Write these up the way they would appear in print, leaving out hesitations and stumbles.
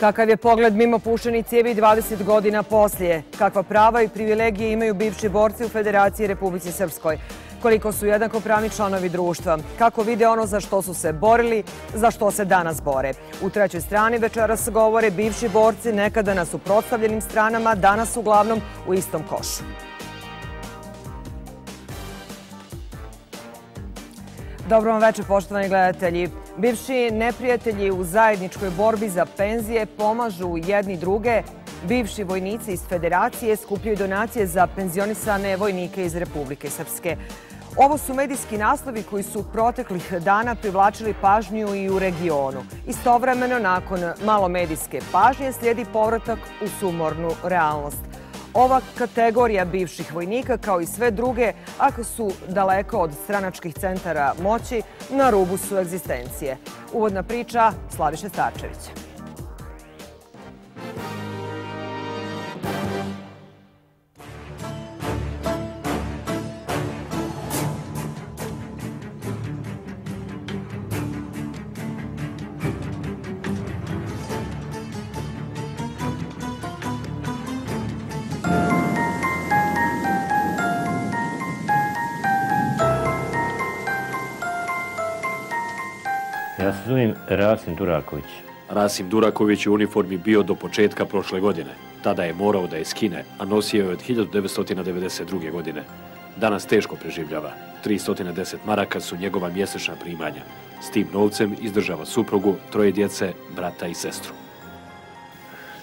Kakav je pogled mimo pušenih cijevi 20 godina poslije? Kakva prava i privilegije imaju bivši borci u Federaciji Republici Srpskoj? Koliko su jednakopravni članovi društva? Kako vide ono za što su se borili, za što se danas bore? U trećoj strani večeras govore bivši borci nekada na suprotstavljenim stranama, danas uglavnom u istom košu. Dobro vam večer, poštovani gledatelji. Bivši neprijatelji u zajedničkoj borbi za penzije pomažu jedni druge. Bivši vojnici iz Federacije skupljaju donacije za penzionisane vojnike iz Republike Srpske. Ovo su medijski naslovi koji su proteklih dana privlačili pažnju i u regionu. Istovremeno, nakon malo medijske pažnje, slijedi povratak u sumornu realnost. Ova kategorija bivših vojnika, kao i sve druge, ako su daleko od stranačkih centara moći, na rubu su egzistencije. Uvodna priča Slaviše Starčevića. Ja se zovem Rasim Duraković. Rasim Duraković je u uniformi bio do početka prošle godine. Tada je morao da je skine, a nosio je od 1992. godine. Danas teško preživljava. 310 maraka su njegova mjesečna primanja. S tim novcem izdržava suprugu, 3 djece, brata i sestru.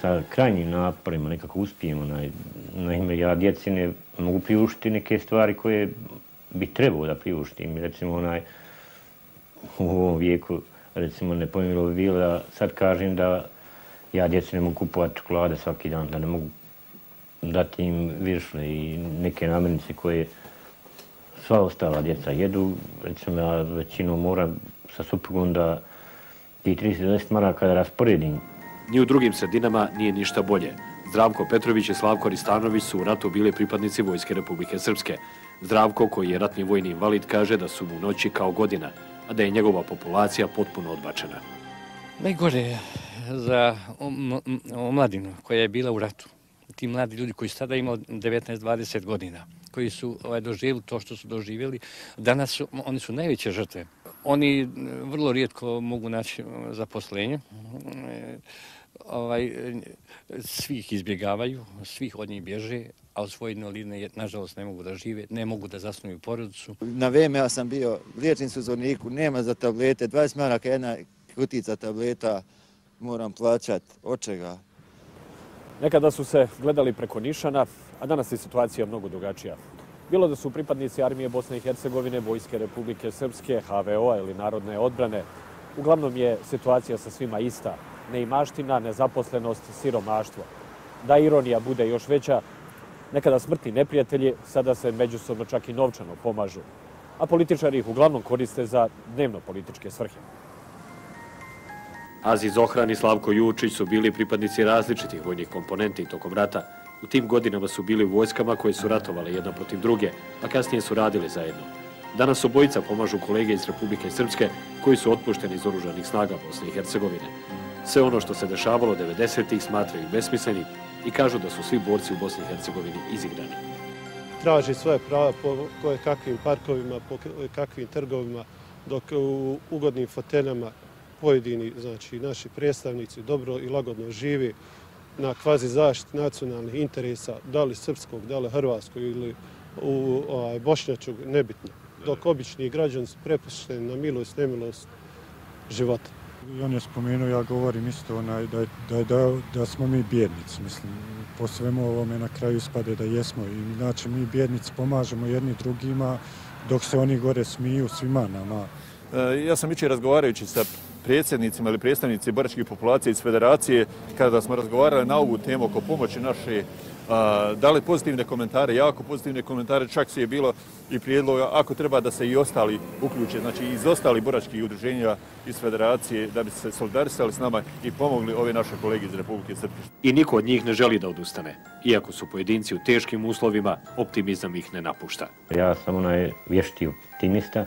Sa krajnjim naporima nekako uspijemo. Naime, ja djeci ne mogu priuštiti neke stvari koje bi trebao da priuštim. Recimo, u ovom vijeku, recimo, nepojmljivo bi bilo da sad kažem da ja djeci ne mogu kupovati čokolade svaki dan, da ne mogu dati im viršle i neke namirnice koje sva ostala djeca jedu. Recimo, ja većinom moram sa suprugom da ti 30 maraka da rasporedim. Ni u drugim sredinama nije ništa bolje. Zdravko Petrović i Slavko Ristanović su u ratu bili pripadnici Vojske Republike Srpske. Zdravko, koji je ratni vojni invalid, kaže da su mu noći kao godina, a da je njegova populacija potpuno odbačena. Najgore je za omladinu koja je bila u ratu. Ti mladi ljudi koji su tada imali 19-20 godina, koji su doživjeli to što su doživjeli, danas oni su najveće žrtve. Oni vrlo rijetko mogu naći zaposlenje. Svih izbjegavaju, svih od njih bježe, a od svoje invalidne, nažalost, ne mogu da žive, ne mogu da zasnuju porodicu. Na vrijeme ja sam bio liječnik u Zvorniku, nema za tablete, 20 maraka jedna kutica tableta, moram plaćati. Od čega? Nekada su se gledali preko nišana, a danas je situacija mnogo drugačija. Bilo da su pripadnici Armije Bosne i Hercegovine, Vojske Republike Srpske, HVO-a ili Narodne odbrane, uglavnom je situacija sa svima ista. Neimaština, nezaposlenost, siromaštvo. Da ironija bude još veća, nekada smrtni neprijatelji sada se međusobno čak i novčano pomažu, a političari ih uglavnom koriste za dnevno-političke svrhe. Aziz Ohran i Slavko Jučić su bili pripadnici različitih vojnih komponenti tokom rata. U tim godinama su bili u vojskama koje su ratovale jedna protiv druge, a kasnije su radili zajedno. Danas obojica pomažu kolege iz Republike Srpske koji su otpušteni iz oružanih snaga Bosne i Hercegovine. Sve ono što se dešavalo 90-ih smatraju besmislenim i kažu da su svi borci u Bosni i Hercegovini izigrani. Traži svoje prava po kakvim parkovima, po kakvim trgovima, dok u ugodnim foteljama pojedini, znači naši predstavnici, dobro i lagodno živi na kvazi zaštiti nacionalnih interesa, da li srpskog, da li hrvatskog ili bošnjačkog, nebitno. Dok obični građani su prepušteni na milost, nemilost života. I on je spomenuo, ja govorim isto, da smo mi bjednici. Mislim, po svemu ovome na kraju ispade da jesmo. I znači mi bjednici pomažemo jedni drugima dok se oni gore smiju svima nama. Ja sam jučer razgovarajući sa predsjednicima ili predstavnici boračkih populacija iz Federacije, kada smo razgovarali na ovu temu oko pomoći naše, dali pozitivne komentare, jako pozitivne komentare, čak su je bilo i prijedloga ako treba da se i ostali uključe, znači iz ostalih boračkih udruženja iz Federacije, da bi se solidarisali s nama i pomogli ove naše kolege iz Republike Srpske. I niko od njih ne želi da odustane. Iako su pojedinci u teškim uslovima, optimizam ih ne napušta. Ja sam onaj vješti optimista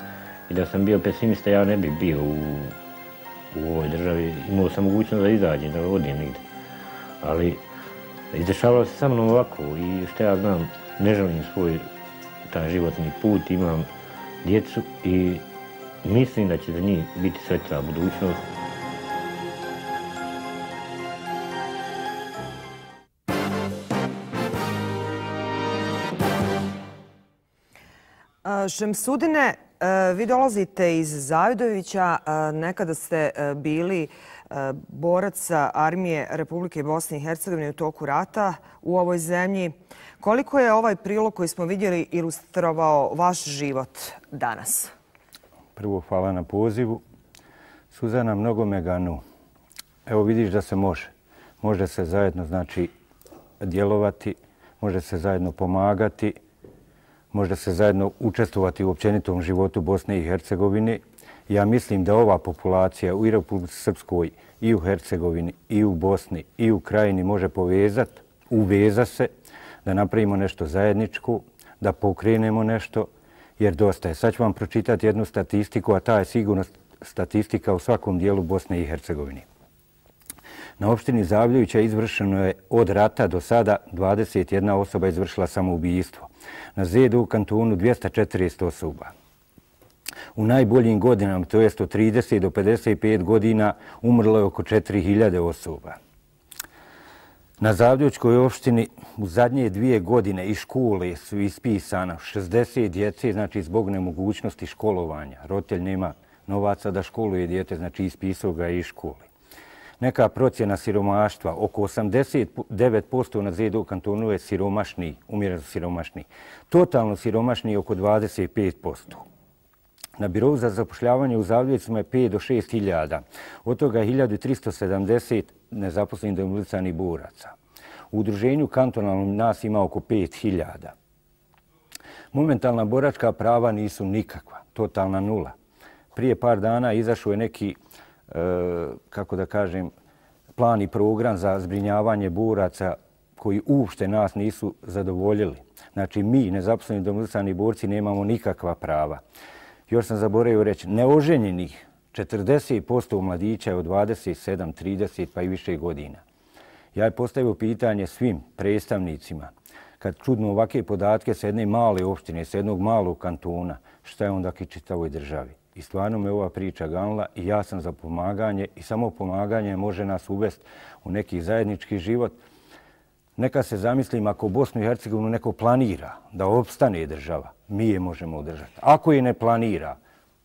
i da sam bio pesimista, ja ne bih bio u ovoj državi. Imao sam mogućnost da izađem, da odim negdje. Ali izdešavalo se sa mnom ovako i što ja znam, ne želim svoj taj životni put, imam djecu i mislim da će za njih biti sretna budućnost. Šemsudine, vi dolazite iz Zavidovića, nekada ste bili borac armije Republike Bosne i Hercegovine u toku rata u ovoj zemlji. Koliko je ovaj prilog koji smo vidjeli ilustrovao vaš život danas? Prvo, hvala na pozivu. Suzana, mnogo me ganu. Evo vidiš da se može. Može se zajedno, znači, djelovati, može se zajedno pomagati, može se zajedno učestvovati u općenitom životu Bosne i Hercegovine. Ja mislim da ova populacija u Republici Srpskoj i u Hercegovini i u Bosni i u Krajini može povezati, uveza se, da napravimo nešto zajedničko, da pokrenemo nešto, jer dosta je. Sad ću vam pročitati jednu statistiku, a ta je sigurno statistika u svakom dijelu Bosne i Hercegovine. Na opštini Zavljevića izvršeno je od rata do sada 21 osoba izvršila samoubistvo. Na Zedu kantonu 240 osoba. U najboljim godinama, to jest od 30 do 55 godina, umrlo je oko 4000 osoba. Na Zavljevičkoj opštini u zadnje 2 godine iz škole su ispisana 60 djece, znači zbog nemogućnosti školovanja. Roditelj nema novaca da školuje dijete, znači ispisao ga iz škole. Neka procjena siromaštva, oko 89% na Zedu kantonu je siromašni, umjereno siromašni. Totalno siromašni oko 25%. Na birovu za zapošljavanje u Zavljevicima je 5 do 6 hiljada. Od toga je 1370 nezaposlenih demobilisanih boraca. U udruženju kantonalnom nas ima oko 5000. Momentalna boračka prava nisu nikakva, totalna nula. Prije par dana izašao je neki, kako da kažem, plan i program za zbrinjavanje boraca koji uopšte nas nisu zadovoljili. Znači mi, nezaposleni demobilisani borci, nemamo nikakva prava. Još sam zaboravio reći, neoženjenih 40% mladića je od 27, 30 pa i više godina. Ja je postavio pitanje svim predstavnicima, kad čudno ovakve podatke sa jedne male opštine, sa jednog malog kantona, šta je onda ki čitavoj državi. I stvarno me ova priča ganula i ja sam za pomaganje i samo pomaganje može nas uvesti u neki zajednički život. Neka se zamislim ako Bosnu i Hercegovinu neko planira da opstane država, mi je možemo održati. Ako je ne planira,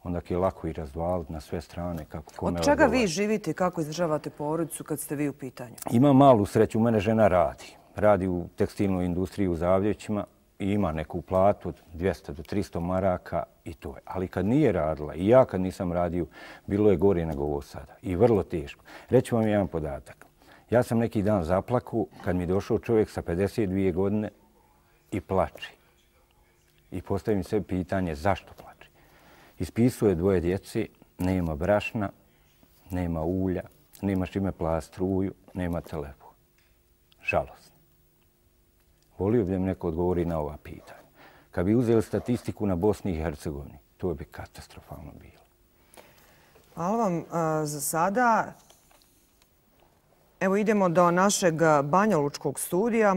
onda je lako i razdvaliti na sve strane. Kako kome od čega vi živite i kako izdržavate porodicu kad ste vi u pitanju? Imam malu sreću, u mene žena radi. Radi u tekstilnoj industriji u Zavljevićima i ima neku platu od 200 do 300 maraka i to je. Ali kad nije radila i ja kad nisam radio, bilo je gore nego ovo sada. I vrlo teško. Reću vam jedan podatak. Ja sam neki dan zaplakao kad mi je došao čovjek sa 52 godine i plači. I postavim sebi pitanje zašto plači. Ispisuje 2 djece, nema brašna, nema ulja, nema čime plast struju, nema telefon. Žalosno. Volio bi da mi neko odgovori na ova pitanja. Kad bi uzeli statistiku na Bosni i Hercegovini, to bi katastrofalno bilo. Hvala vam za sada. Evo idemo do našeg Banjalučkog studija.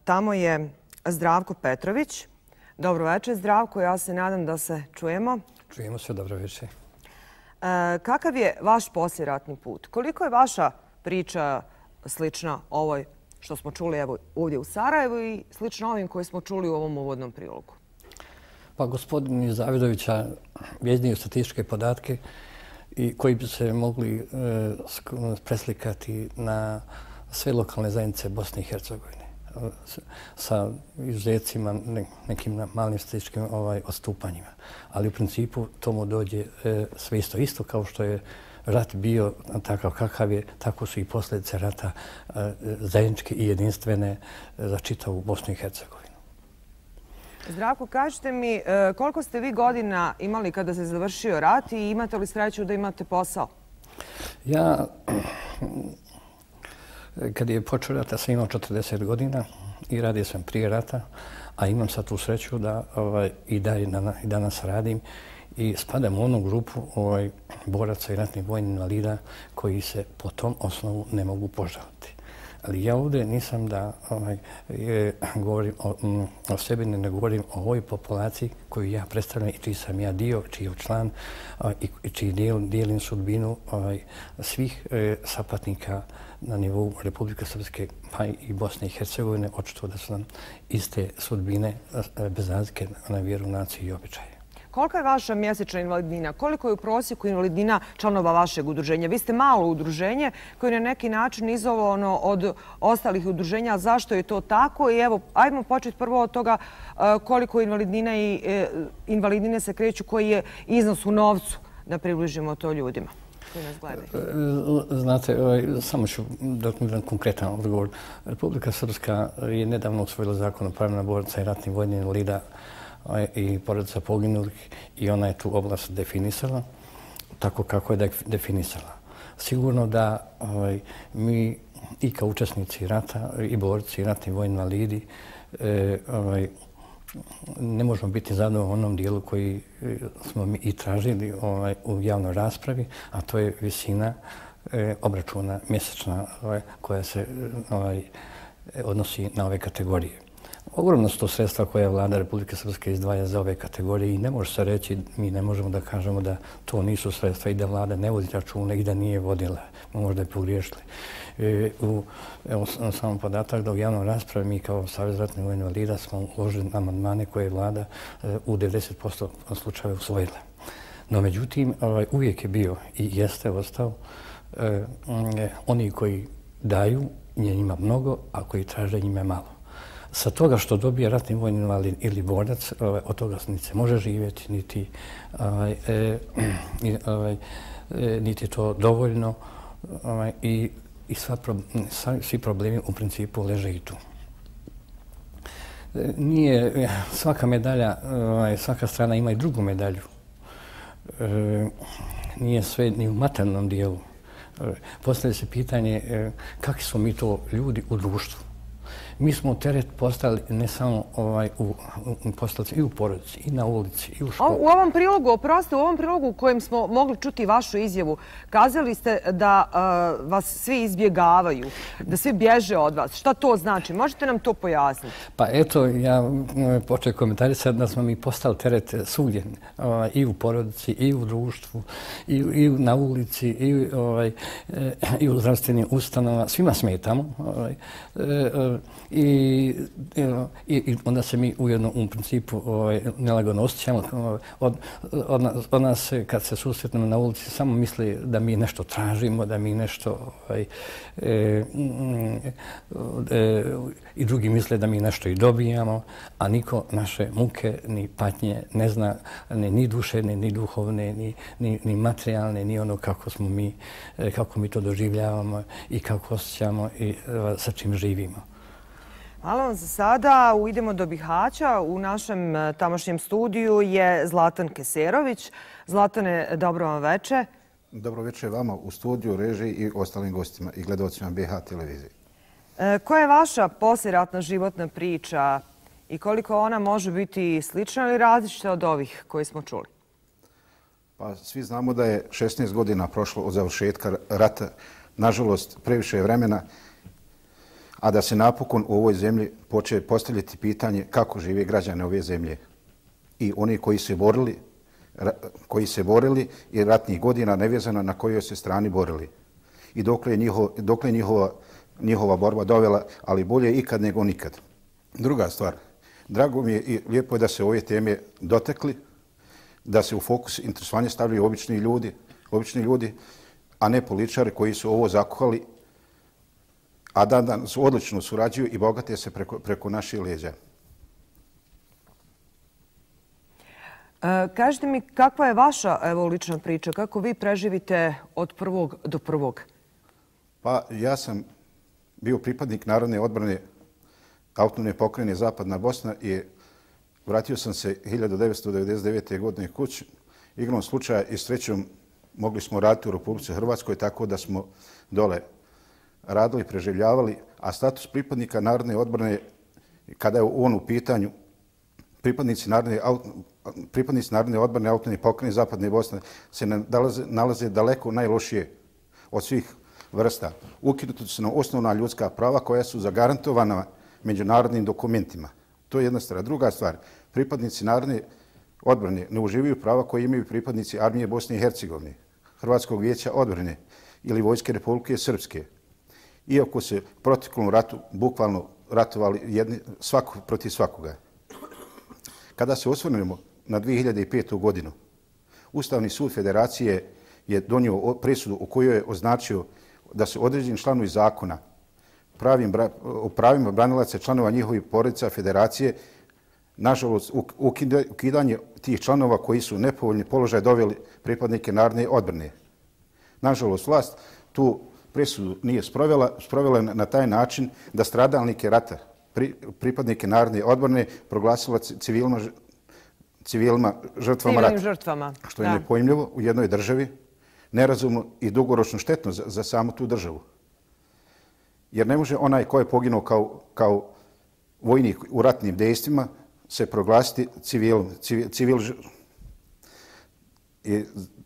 Tamo je Zdravko Petrović. Dobro večer, Zdravko. Ja se nadam da se čujemo. Čujemo se, dobro večer. Kakav je vaš poslijeratni put? Koliko je vaša priča slična ovoj što smo čuli evo ovdje u Sarajevu i slično ovim koje smo čuli u ovom uvodnom prilogu? Pa gospodin iz Zavidovića iznio statističke podatke i koji bi se mogli preslikati na sve lokalne zajednice Bosne i Hercegovine sa izuzecima nekim malim statističkim odstupanjima. Ali u principu tomu dođe sve isto kao što je rat bio takav kakav je, tako su i posljedice rata zajedničke i jedinstvene za čitavu Bosnu i Hercegovinu. Zdravko, kažete mi koliko ste vi godina imali kada se završio rat i imate li sreću da imate posao? Ja, kad je počeo rat, sam imao 40 godina i radio sam prije rata, a imam sad tu sreću da i danas radim i spadam u onu grupu boraca i ratnih vojnih invalida koji se po tom osnovu ne mogu požaliti. Ali ja ovdje nisam da govorim o sebi, ne govorim o ovoj populaciji koju ja predstavljam i čiji sam ja dio, čiji je član i čiji dijelim sudbinu svih sapatnika na nivou Republike Srpske pa i Bosne i Hercegovine. Očito da su nam iste sudbine bez razlike na vjeru, naciju i običaje. Kolika je vaša mjesečna invalidnina? Koliko je u prosjeku invalidnina članova vašeg udruženja? Vi ste malo udruženje koje je na neki način izolovano od ostalih udruženja. Zašto je to tako? I evo, ajmo početi prvo od toga koliko invalidnina i invalidnine se kreću, koji je iznos u novcu, da približimo to ljudima koji nas gledaju. Znate, samo ću da konkretan odgovor. Republika Srpska je nedavno usvojila zakon o pravima boraca i ratnih vojnih invalida i porodica poginulih i ona je tu oblast definisala tako kako je definisala. Sigurno da mi i kao učesnici rata i borci i ratni vojni invalidi ne možemo biti zadovoljni u onom dijelu koji smo mi i tražili u javnoj raspravi, a to je visina obračuna mjesečna koja se odnosi na ove kategorije. Ogromno su to sredstva koje vlada Republike Srpske izdvaja za ove kategorije i ne može se reći, mi ne možemo da kažemo da to nisu sredstva i da vlada ne vodi računa i da nije vodila. Možda je pogriješili. Evo samo podatak da u javnoj raspravi mi kao Savez ratnih vojnih invalida smo uložili amandmane koje je vlada u 90% slučajeva usvojila. No međutim, uvijek je bio i jeste ostao oni koji daju, njima mnogo, a koji traže njima malo. Sa toga što dobije ratni vojni invalid ili borac, od toga se može živjeti, niti je to dovoljno i svi problemi u principu leže i tu. Nije svaka medalja, svaka strana ima i drugu medalju. Nije sve ni u materijalnom dijelu. Postavlja se pitanje kakvi smo mi to ljudi u društvu. Mi smo teret postali ne samo i u porodici, i na ulici, i u školi. U ovom prilogu, oprosti, u ovom prilogu u kojem smo mogli čuti vašu izjavu, kazali ste da vas svi izbjegavaju, da svi bježe od vas. Šta to znači? Možete nam to pojasniti? Pa eto, ja počeo komentarisati da smo mi postali teret svugdje, i u porodici, i u društvu, i na ulici, i u zdravstvenim ustanovama. Svima smetamo. I onda se mi ujedno u principu nelagodno osjećamo. Od nas kad se susretnemo na ulici samo misli da mi nešto tražimo, da mi nešto i drugi misle da mi nešto i dobijamo, a niko naše muke ni patnje ne zna, ni duševne, ni duhovne, ni materijalne, ni ono kako mi to doživljavamo i kako osjećamo i sa čim živimo. Hvala vam za sada. Idemo do Bihaća. U našem tamošnjem studiju je Zlatan Keserović. Zlatane, dobro vam veče. Dobro veče vama u studiju, režiji i ostalim gostima i gledalcima BiH televizije. Koja je vaša poslijeratna životna priča i koliko ona može biti slična ili različita od ovih koje smo čuli? Pa svi znamo da je 16 godina prošlo od završetka rata. Nažalost, previše je vremena, a da se napokon u ovoj zemlji počne postavljati pitanje kako žive građane ove zemlje. I oni koji se borili i ratnih godina nevezano na kojoj se strani borili. I dokle je njihova borba dovela, ali bolje ikad nego nikad. Druga stvar, drago mi je i lijepo je da se ove teme dotekli, da se u fokus interesovanja stavljaju obični ljudi, a ne političari koji su ovo zakuhali, a danas odlično surađuju i bogate se preko naših leđa. Kažite mi, kakva je vaša lična priča? Kako vi preživite od prvog do prvog? Pa ja sam bio pripadnik Narodne odbrane Autonomne pokrajine Zapadna Bosna i vratio sam se 1999. godine kući. Igrom slučaja i srećom mogli smo raditi u Republici Hrvatskoj, tako da smo dole radili, preživljavali, a status pripadnika Narodne odbrane, kada je on u pitanju, pripadnici Narodne odbrane autonomne pokrajine Zapadne Bosne se nalaze daleko najlošije od svih vrsta. Ukinuta su nam osnovna ljudska prava koja su zagarantovana međunarodnim dokumentima. To je jedna stvar. Druga stvar, pripadnici Narodne odbrane ne uživaju prava koje imaju pripadnici Armije Bosne i Hercegovine, Hrvatskog vijeća odbrane ili Vojske Republike Srpske. Iako se u proteklom ratu bukvalno ratovali svako protiv svakoga. Kada se osvrnemo na 2005. godinu, Ustavni sud Federacije je donio presudu u kojoj je označio da su određeni članovi zakona o pravima branilaca članova njihovih porodica Federacije, nažalost, ukidanje tih članova koji su u nepovoljni položaj doveli pripadnike Narodne odbrane. Nažalost, vlast tu presudu nije sprovela na taj način da stradalnike rata, pripadnike Narodne odbrane, proglasila civilima žrtvama rata. Što je nepojmljivo u jednoj državi, nerazumno i dugoročno štetno za samu tu državu. Jer ne može onaj ko je poginuo kao vojnik u ratnim dejstvima se proglasiti civil.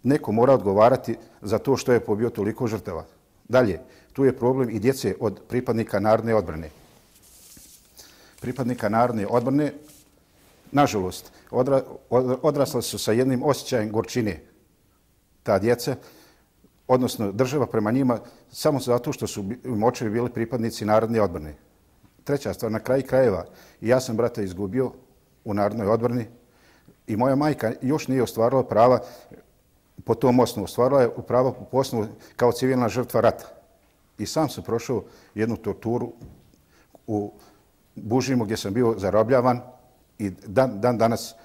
Neko mora odgovarati za to što je pobio toliko žrtava. Dalje, tu je problem i djece od pripadnika Narodne odbrane. Pripadnika Narodne odbrane, nažalost, odrasla su sa jednim osjećajem gorčine. Ta djeca, odnosno država prema njima, samo zato što su im očevi bili pripadnici Narodne odbrane. Treća stvar, na kraju krajeva, ja sam brata izgubio u Narodnoj odbrani i moja majka još nije ostvarila prava po tom osnovu. Ostvarila je prava po osnovu kao civilna žrtva rata. I sam sam prošao jednu torturu u Bužimu gdje sam bio zarobljavan i dan danas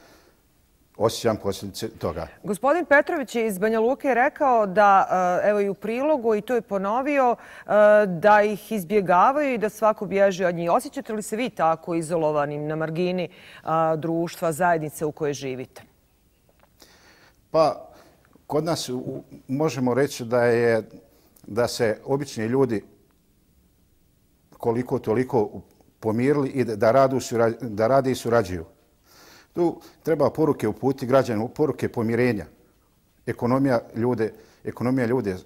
osjećam posljedice toga. Gospodin Petrović iz Banja Luke je rekao da, evo i u prilogu, i to je ponovio, da ih izbjegavaju i da svako bježi od njih. Osjećate li se vi tako izolovanim na margini društva, zajednice u kojoj živite? Pa, kod nas možemo reći da se obični ljudi koliko toliko pomirili i da rade i surađuju. Tu treba poruke uputiti građanima, poruke pomirenja. Ekonomija ljude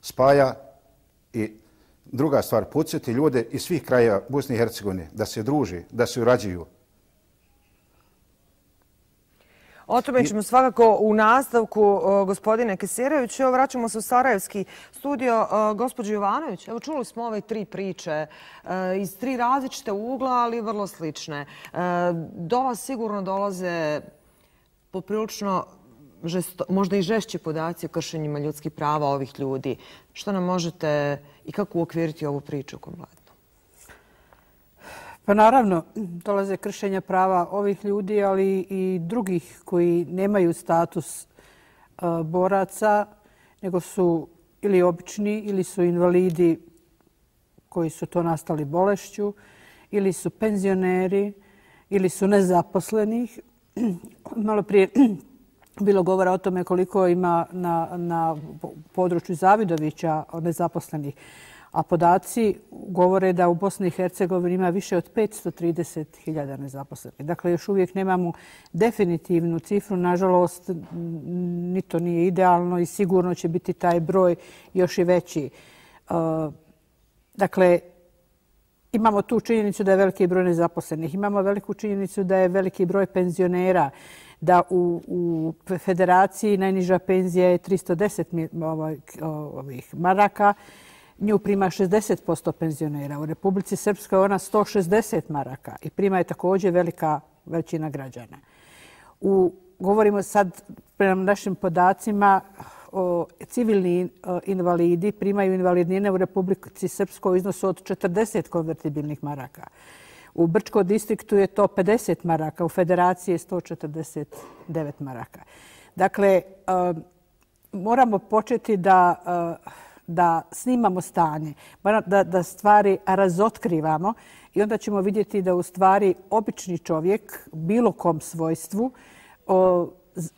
spaja i druga stvar, podsjeti ljude iz svih krajeva Bosne i Hercegovine da se druže, da se surađuju. O tome ćemo svakako u nastavku, gospodine Keserović. Evo, vraćamo se u Sarajevski studio. Gospođo Jovanović, evo čuli smo ove tri priče iz tri različite ugla, ali vrlo slične. Do vas sigurno dolaze poprilično možda i žešći podaci o kršenjima ljudskih prava ovih ljudi. Što nam možete i kako uokviriti ovu priču kompletno? Pa naravno, dolaze kršenja prava ovih ljudi, ali i drugih koji nemaju status boraca, nego su ili obični, ili su invalidi koji su to nastali bolešću, ili su penzioneri, ili su nezaposlenih. Malo prije bilo govora o tome koliko ima na području Zavidovića nezaposlenih. A podaci govore da u Bosni i Hercegovini ima više od 530.000 nezaposlenih. Dakle, još uvijek nemamo definitivnu cifru. Nažalost, ni to nije idealno i sigurno će biti taj broj još i veći. Dakle, imamo tu činjenicu da je veliki broj nezaposlenih. Imamo veliku činjenicu da je veliki broj penzionera, da u Federaciji najniža penzija je 310 maraka. Nju prima 60% penzionera. U Republici Srpskoj ona 160 maraka i prima je također velika većina građana. Govorimo sad prema našim podacima, civilni invalidi primaju invalidnine u Republici Srpskoj u iznosu od 40 konvertibilnih maraka. U Brčkom distriktu je to 50 maraka, u Federaciji je 149 maraka. Dakle, moramo početi da snimamo stanje, da stvari razotkrivamo i onda ćemo vidjeti da u stvari obični čovjek bilo kom svojstvu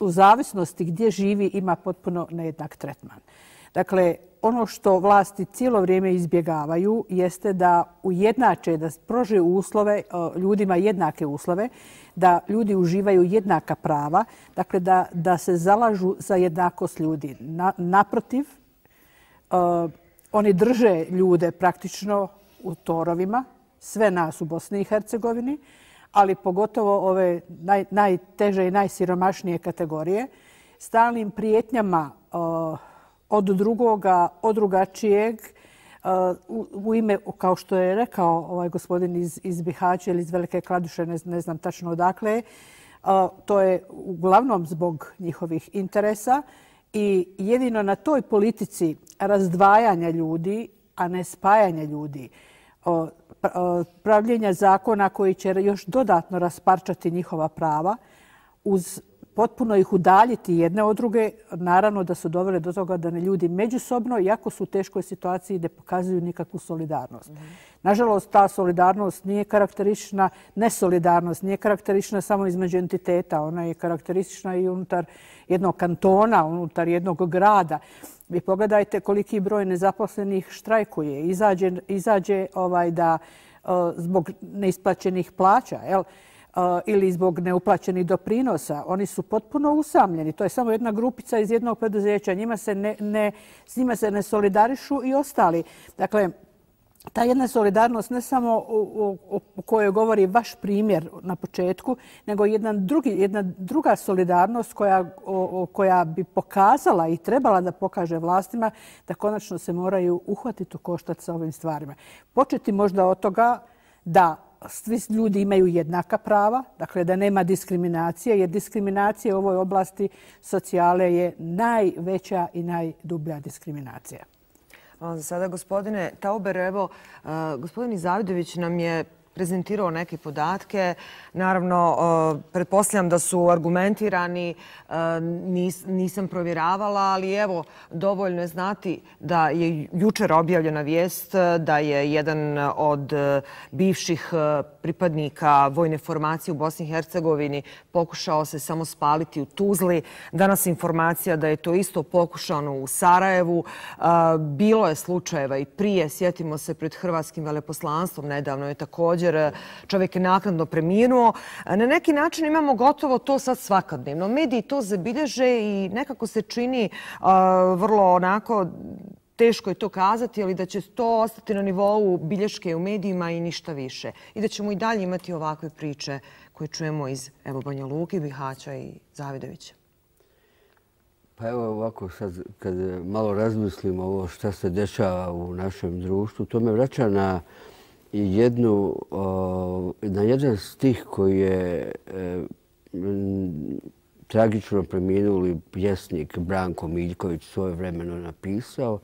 u zavisnosti gdje živi ima potpuno nejednak tretman. Dakle, ono što vlasti cijelo vrijeme izbjegavaju jeste da ujednače, da pruže uslove, ljudima jednake uslove, da ljudi uživaju jednaka prava, dakle da se zalažu za jednakost ljudi. Naprotiv, oni drže ljude praktično u torovima, sve nas u Bosni i Hercegovini, ali pogotovo ove najteže i najsiromašnije kategorije, stalnim prijetnjama od drugoga, od drugačijeg, u ime, kao što je rekao ovaj gospodin iz Bihaća ili iz Velike Kladuše, ne znam tačno odakle, to je uglavnom zbog njihovih interesa i jedino na toj politici razdvajanja ljudi, a ne spajanja ljudi, pravljenja zakona koji će još dodatno rasparčati njihova prava, uz potpuno ih udaljiti jedne od druge, naravno da su dovele do toga da ljudi međusobno, iako su u teškoj situaciji, ne pokazuju nikakvu solidarnost. Nažalost, ta solidarnost nije karakteristična, nesolidarnost nije karakteristična samo između entiteta, ona je karakteristična i unutar jednog kantona, unutar jednog grada. Vi pogledajte koliki broj nezaposlenih štrajkuje, izađe da zbog neisplaćenih plaća, ili zbog neuplaćenih doprinosa. Oni su potpuno usamljeni. To je samo jedna grupica iz jednog preduzeća. S njima se ne solidarišu i ostali. Dakle, ta jedna solidarnost ne samo o kojoj govori vaš primjer na početku, nego jedna druga solidarnost koja bi pokazala i trebala da pokaže vlastima da konačno se moraju uhvatiti u koštac sa ovim stvarima. Početi možda od toga da svi ljudi imaju jednaka prava, dakle da nema diskriminacije, jer diskriminacija u ovoj oblasti socijale je najveća i najdublja diskriminacija. Za sada, gospodine Tauber, evo, gospodin Zavidović nam je prezentirao neke podatke. Naravno, pretpostavljam da su argumentirani, nisam provjeravala, ali evo, dovoljno je znati da je jučer objavljena vijest da je jedan od bivših pripadnika vojne formacije u Bosni i Hercegovini pokušao se samo spaliti u Tuzli. Danas informacija da je to isto pokušano u Sarajevu. Bilo je slučajeva i prije, sjetimo se pred hrvatskim veleposlanstvom, nedavno je također čovjek je naknadno preminuo. Na neki način imamo gotovo to sad svakodnevno. Mediji to zabilježe i nekako se čini vrlo onako, teško je to kazati, ali da će to ostati na nivou bilješke u medijima i ništa više. I da ćemo i dalje imati ovakve priče koje čujemo iz Banja Luke, Bihaća i Zavidovića. Pa evo ovako sad kad malo razmislimo ovo šta se dešava u našem društvu, to me vraća na jedan stih koji je tragično preminuli pjesnik Branko Miljković svojevremeno napisao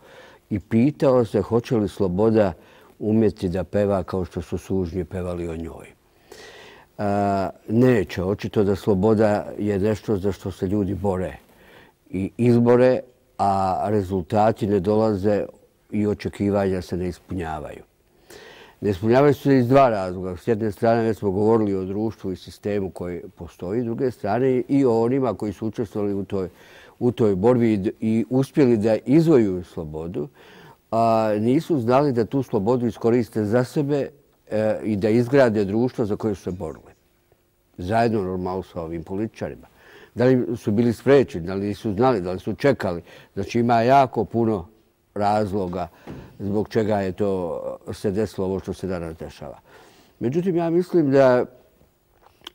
i pitao se hoće li sloboda umjeti da peva kao što su sužnji pevali o njoj. Neće. Očito da sloboda je nešto za što se ljudi bore i izbore, a rezultati ne dolaze i očekivanja se ne ispunjavaju. Ne ispunjavaju se iz dva razloga. S jedne strane već smo govorili o društvu i sistemu koji postoji, s druge strane i o onima koji su učestvovali u toj borbi i uspjeli da izvojuju slobodu, a nisu znali da tu slobodu iskoriste za sebe i da izgrade društvo za koje su se borili. Zajedno normalno sa ovim političarima. Da li su bili sprečeni, da li su znali, da li su čekali. Znači ima jako puno razloga zbog čega je to se desilo ovo što se danas dešava. Međutim, ja mislim da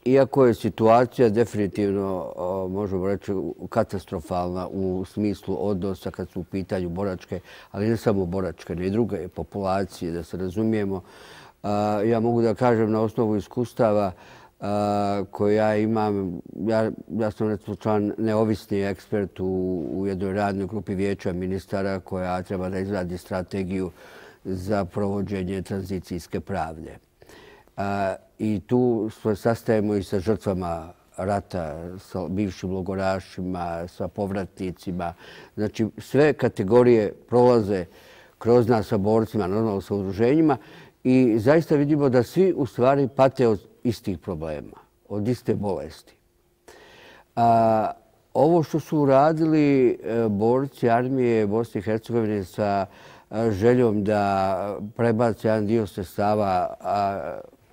iako je situacija definitivno, možemo reći, katastrofalna u smislu odnosa kad su u pitanju boračke, ali ne samo boračke, ne i druge populacije, da se razumijemo, ja mogu da kažem na osnovu iskustava koje ja imam, ja sam recimo član neovisni ekspert u jednoj radnoj grupi vijeća ministara koja treba da izradi strategiju za provođenje tranzicijske pravde. I tu se sastajemo i sa žrtvama rata, sa bivšim logorašima, sa povratnicima. Znači sve kategorije prolaze kroz nas sa borcima, normalno sa udruženjima i zaista vidimo da svi u stvari pate od istih problema, od iste bolesti. ovo što su uradili borci armije Bosne i Hercegovine sa željom da prebace jedan dio sredstava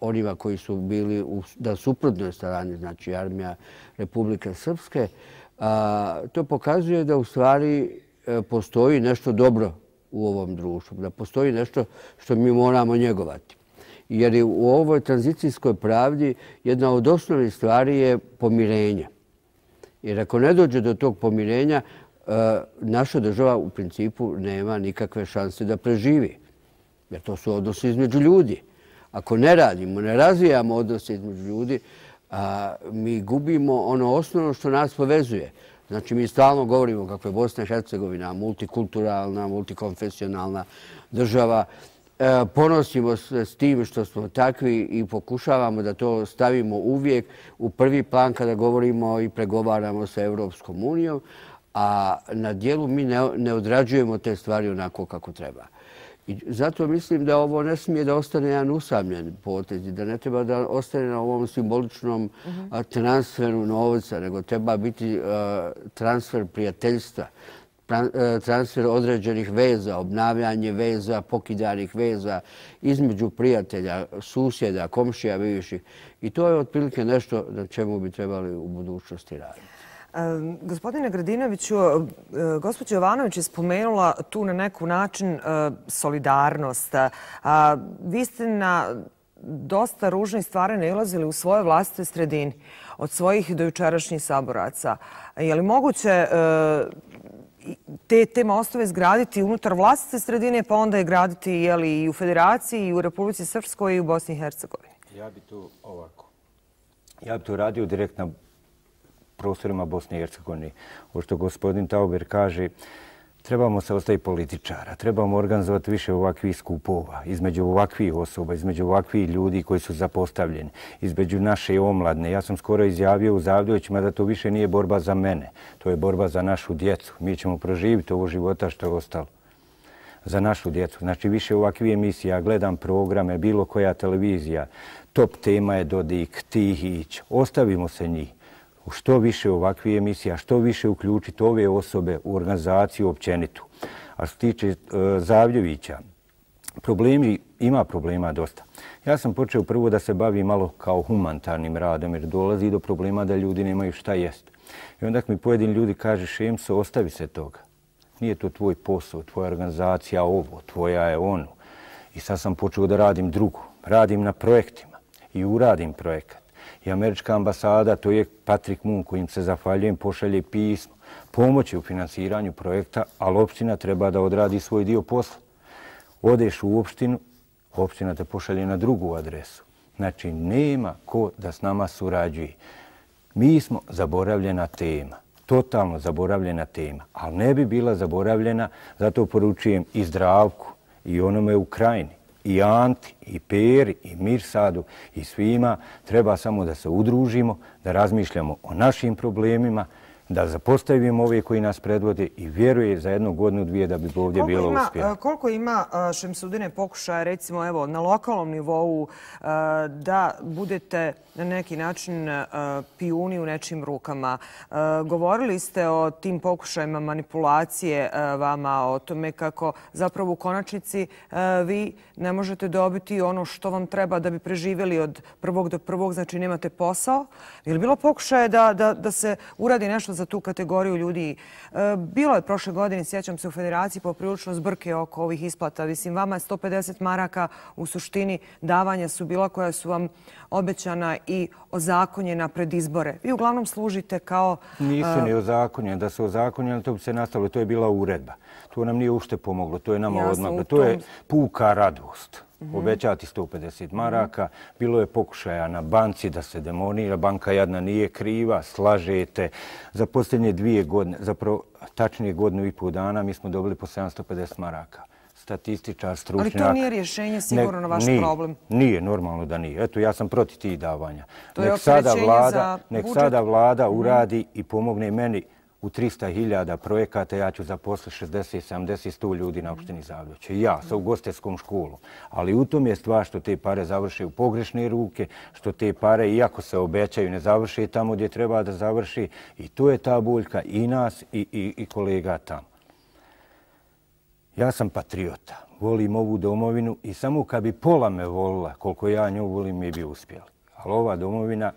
onima koji su bili na suprotnoj strani, znači armija Republike Srpske, to pokazuje da u stvari postoji nešto dobro u ovom društvu, da postoji nešto što mi moramo njegovati. Jer u ovoj tranzicijskoj pravdi jedna od osnovnih stvari je pomirenje. Jer ako ne dođe do tog pomirenja, naša država u principu nema nikakve šanse da preživi. Jer to su odnosi između ljudi. Ako ne radimo, ne razvijamo odnose između ljudi, mi gubimo ono osnovno što nas povezuje. Znači, mi stalno govorimo kako je Bosna i Hercegovina multikulturalna, multikonfesionalna država. Ponosimo se s tim što smo takvi i pokušavamo da to stavimo uvijek u prvi plan kada govorimo i pregovaramo sa Evropskom unijom, a na dijelu mi ne odrađujemo te stvari onako kako treba. I zato mislim da ovo ne smije da ostane jedan usamljen potez i da ne treba da ostane na ovom simboličnom transferu novca, nego treba biti transfer prijateljstva, transfer određenih veza, obnavljanje veza, pokidanih veza između prijatelja, susjeda, komšija bivših. I to je otprilike nešto na čemu bi trebali u budućnosti raditi. Gospodine Gradinoviću, gospođa Jovanović je spomenula tu na neku način solidarnost. Vi ste na dosta ružnih stvari nailazili u svoje vlastite sredini, od svojih dojučerašnjih saboraca. Je li moguće te mostove izgraditi unutar vlastite sredine, pa onda je graditi i u Federaciji, i u Republici Srpskoj, i u Bosni i Hercegovini? Ja bi to ovako. Ja bi to radio direkt na prostorima Bosne i Hercegovine. Ovo što gospodin Tauber kaže, trebamo se ostaviti političara, trebamo organizovati više ovakvih skupova, između ovakvih osoba, između ovakvih ljudi koji su zapostavljeni, između naše omladne. Ja sam skoro izjavio u Zavdovićima da to više nije borba za mene, to je borba za našu djecu. Mi ćemo proživiti ovo života što je ostalo za našu djecu. Znači više ovakvih emisija, ja gledam programe, bilo koja televizija, top tema je Dodik, Tihić, ostavimo se njih. Što više ovakvih emisija, što više uključiti ove osobe u organizaciju općenitu. A što se tiče Zavljevića, ima problema dosta. Ja sam počeo prvo da se bavim malo kao humanitarnim radom jer dolazi do problema da ljudi nemaju šta jesti. I onda mi pojedini ljudi kaže Šemso, ostavi se toga. Nije to tvoj posao, tvoja organizacija ovo, tvoja je ono. I sad sam počeo da radim drugo. Radim na projektima i uradim projekat. I američka ambasada, to je Patrick Moon kojim se zahvaljujem, pošalje pismo. Pomoći u financiranju projekta, ali opština treba da odradi svoj dio posla. Odeš u opštinu, opština te pošalje na drugu adresu. Znači, nema ko da s nama surađuje. Mi smo zaboravljena tema, totalno zaboravljena tema, ali ne bi bila zaboravljena, zato poručujem i Zdravku, i onome u Krajini, i Anti, i Peri, i Mirsadu, i svima. Treba samo da se udružimo, da razmišljamo o našim problemima, da zapostavimo ove koji nas predvode i vjeruje za 1 godinu, 2 da bi ovdje bilo uspjelo. Koliko ima, Šemsudine, pokušaja, recimo evo, na lokalnom nivou da budete na neki način pijuni u nečim rukama? Govorili ste o tim pokušajima manipulacije vama, o tome kako zapravo u konačnici vi ne možete dobiti ono što vam treba da bi preživjeli od prvog do prvog, znači nemate posao. Je li bilo pokušaje da se uradi nešto za tu kategoriju ljudi? Bilo je prošle godine, sjećam se, u Federaciji poprilično zbrke oko ovih isplata. Mislim, vama je 150 maraka u suštini davanja su bila koja su vam obećana i ozakonjena pred izbore. Vi uglavnom služite kao... Nisu ni ozakonjene. Da se ozakonjene, to bi se nastavilo. To je bila uredba. To nam nije ušte pomoglo. To je nama odmaglo. To je puka radost. Obećati 150 maraka. Bilo je pokušaja na banci da se demonira. Banka jadna nije kriva, slažete. Za posljednje 2 godine, zapravo tačnije 1,5 dana, mi smo dobili po 750 maraka. Statističar, stručnjak. Ali to nije rješenje sigurno na vaš problem. Nije, normalno da nije. Eto, ja sam protiv tih davanja. To je opterećenje za budžet. Nek sada vlada uradi i pomogne meni u 300.000 projekata ja ću zaposliti 60, 70, 100 ljudi na opštini Zavljuće. I ja sa ugostiteljskom školom. Ali u tom je stvar što te pare završe u pogrešne ruke, što te pare, iako se obećaju, ne završe tamo gdje treba da završi. I to je ta boljka i nas i kolega tamo. Ja sam patriota, volim ovu domovinu i samo kad bi pola me volila koliko ja nju volim, mi bi uspjeli. Ali ova domovina,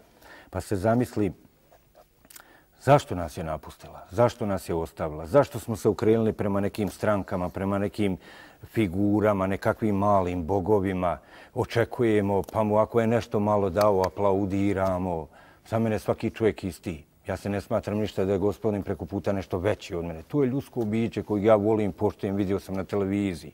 pa se zamisli zašto nas je napustila, zašto nas je ostavila, zašto smo se okrenuli prema nekim strankama, prema nekim figurama, nekakvim malim bogovima, očekujemo, pa mu ako je nešto malo dao, aplaudiramo. Za mene svaki čovjek isti. Ja se ne smatram ništa da je gospodin preko puta nešto veći od mene. To je ljudsko biće koje ja volim, poštujem, vidio sam na televiziji.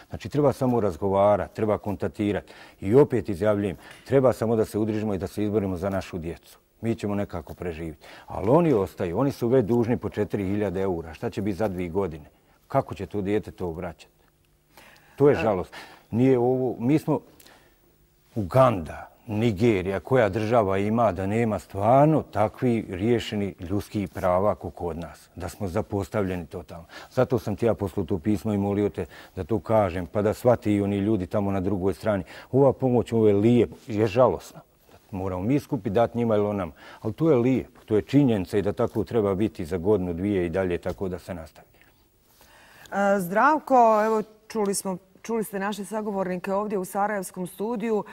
Znači, treba samo razgovarati, treba kontaktirati. I opet izjavljujem, treba samo da se udružimo i da se izborimo za našu djecu. Mi ćemo nekako preživjeti. Ali oni ostaju, oni su već dužni po 4.000 eura. Šta će biti za 2 godine? Kako će to dijete to vraćati? To je žalost. Nije ovo, mi smo Uganda, Nigerija, koja država ima da nema stvarno takvi riješeni ljudskih prava kao kod nas, da smo zapostavljeni totalno. Zato sam ti ja poslao to pismo i molio te da to kažem, pa da shvati i oni ljudi tamo na drugoj strani. Ova pomoć, ovo je lijepo, je žalosna. Moramo mi skupiti, dati njima ili onam. Ali to je lijepo, to je činjenica i da tako treba biti za godinu, 2 i dalje, tako da se nastavi. Zdravko, evo čuli ste naše sagovornike ovdje u Sarajevskom studiju.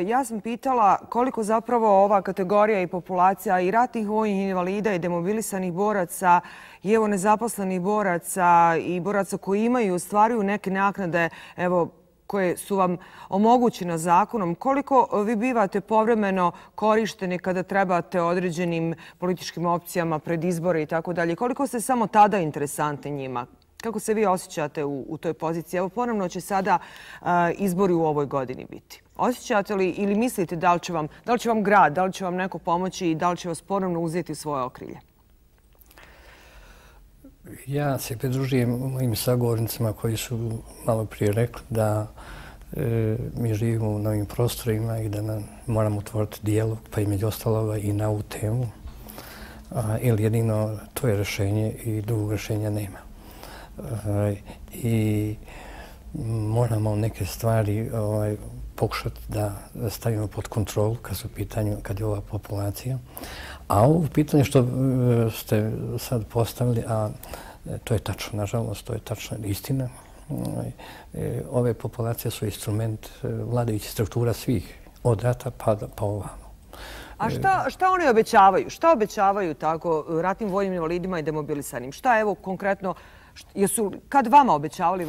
Ja sam pitala koliko zapravo ova kategorija i populacija i ratnih vojnih invalida i demobilisanih boraca i evo nezaposlenih boraca i boraca koji imaju i ostvaruju neke naknade, evo, koje su vam omogućene zakonom, koliko vi bivate povremeno korišteni kada trebate određenim političkim opcijama pred izbore i tako dalje, koliko ste samo tada interesantni njima? Kako se vi osjećate u toj poziciji? Evo, ponovno će sada izbori u ovoj godini biti. Osjećate li ili mislite da li će vam grad, da li će vam neko pomoći i da li će vas ponovno uzeti u svoje okrilje? Ja se pridružujem mojim sagovornicima koji su malo prije rekli da mi živimo u novim prostorima i da moramo otvoriti dijalog, pa između ostaloga i na ovu temu. Ili jedino to je rješenje i drugog rješenja nema. I moramo neke stvari pokušati da stavimo pod kontrolu kad je ova populacija. A ovo pitanje što ste sad postavili, a to je tačno, nažalost, to je tačna istina. Ove populacije su instrument vladajućih struktura svih, od rata pa ovamo. A šta oni obećavaju? Šta obećavaju tako ratnim vojnim invalidima i demobilisanim? Šta evo konkretno, jesu kad vama obećavali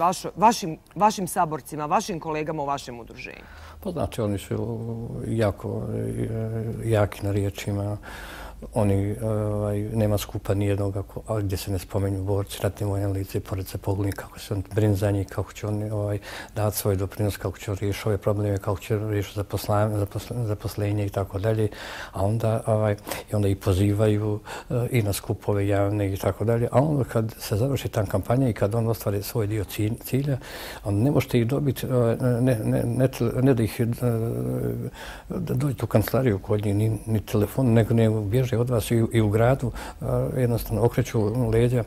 vašim saborcima, vašim kolegama u vašem udruženju? Pa znači, oni su jako jaki na riječima. Oni nema skupa nijednog gdje se ne spomenju borci, ratni vojni invalidi, pored se pogledaju kako se on brine za njih, kako će oni dati svoj doprinos, kako će riješiti ove probleme, kako će riješiti zaposlenje i tako dalje. A onda ih pozivaju i na skupove javne i tako dalje. A onda kad se završi ta kampanja i kad on ostvari svoj dio cilja, onda ne možete ih dobiti, ne da ih da dođete u kancelariju kod njih, ni telefon, nego bježe od vas i u gradu, jednostavno okreću leđa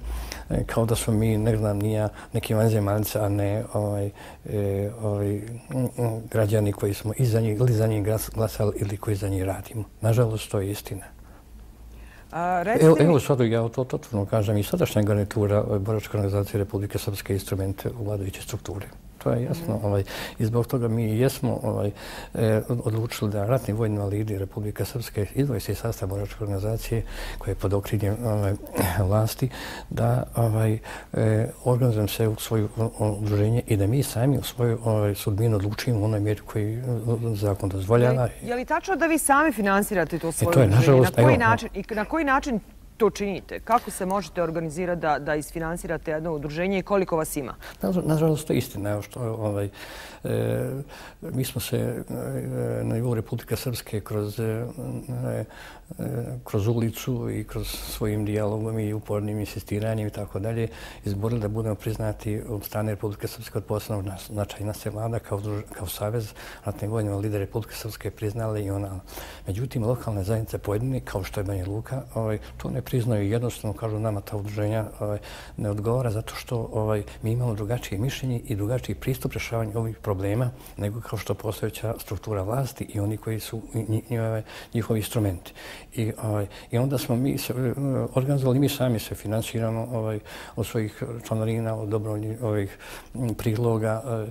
kao da smo mi, ne znam, neki vanzemaljci, a ne građani koji smo ili za njih glasali ili koji za njih radimo. Nažalost, to je istina. Evo sad ja to totalno kažem i sadašnja garnitura Boračke organizacije Republike Srpske instrumente u vladajuće strukture. To je jasno. I zbog toga mi jesmo odlučili da ratni vojni invalidi Republike Srpske izdvoje se iz sastava Boračke organizacije koje je pod okriljem vlasti, da organizujemo se u svoje udruženje i da mi sami u svoju sudbinu odlučimo u onoj mjeri koji zakon dozvoljava. Je li tačno da vi sami finansirate to svoje udruženje? Na koji način to činite? Kako se možete organizirati da isfinansirate jedno udruženje i koliko vas ima? Nažalost, to je istina. Mi smo se na nivou Republike Srpske kroz ulicu i kroz svojim dijalogom i upornim insistiranjem i tako dalje izborili da budemo priznati od strane Republike Srpske od posebnog značaja. Nas je vlada kao savez ratnih vojnih invalida Republike Srpske priznale i ona. Međutim, lokalne zajednice pojedine, kao što je Banja Luka, to ne priznaju jednostavno, kažu nama ta udruženja ne odgovara zato što mi imamo drugačije mišljenje i drugačiji pristup rješavanju ovih problema nego kao što postojeća struktura vlasti i oni koji su njihovi instrumenti. I onda smo mi organizovali, mi sami se finansiramo od svojih članarina, od dobrovoljnih priloga,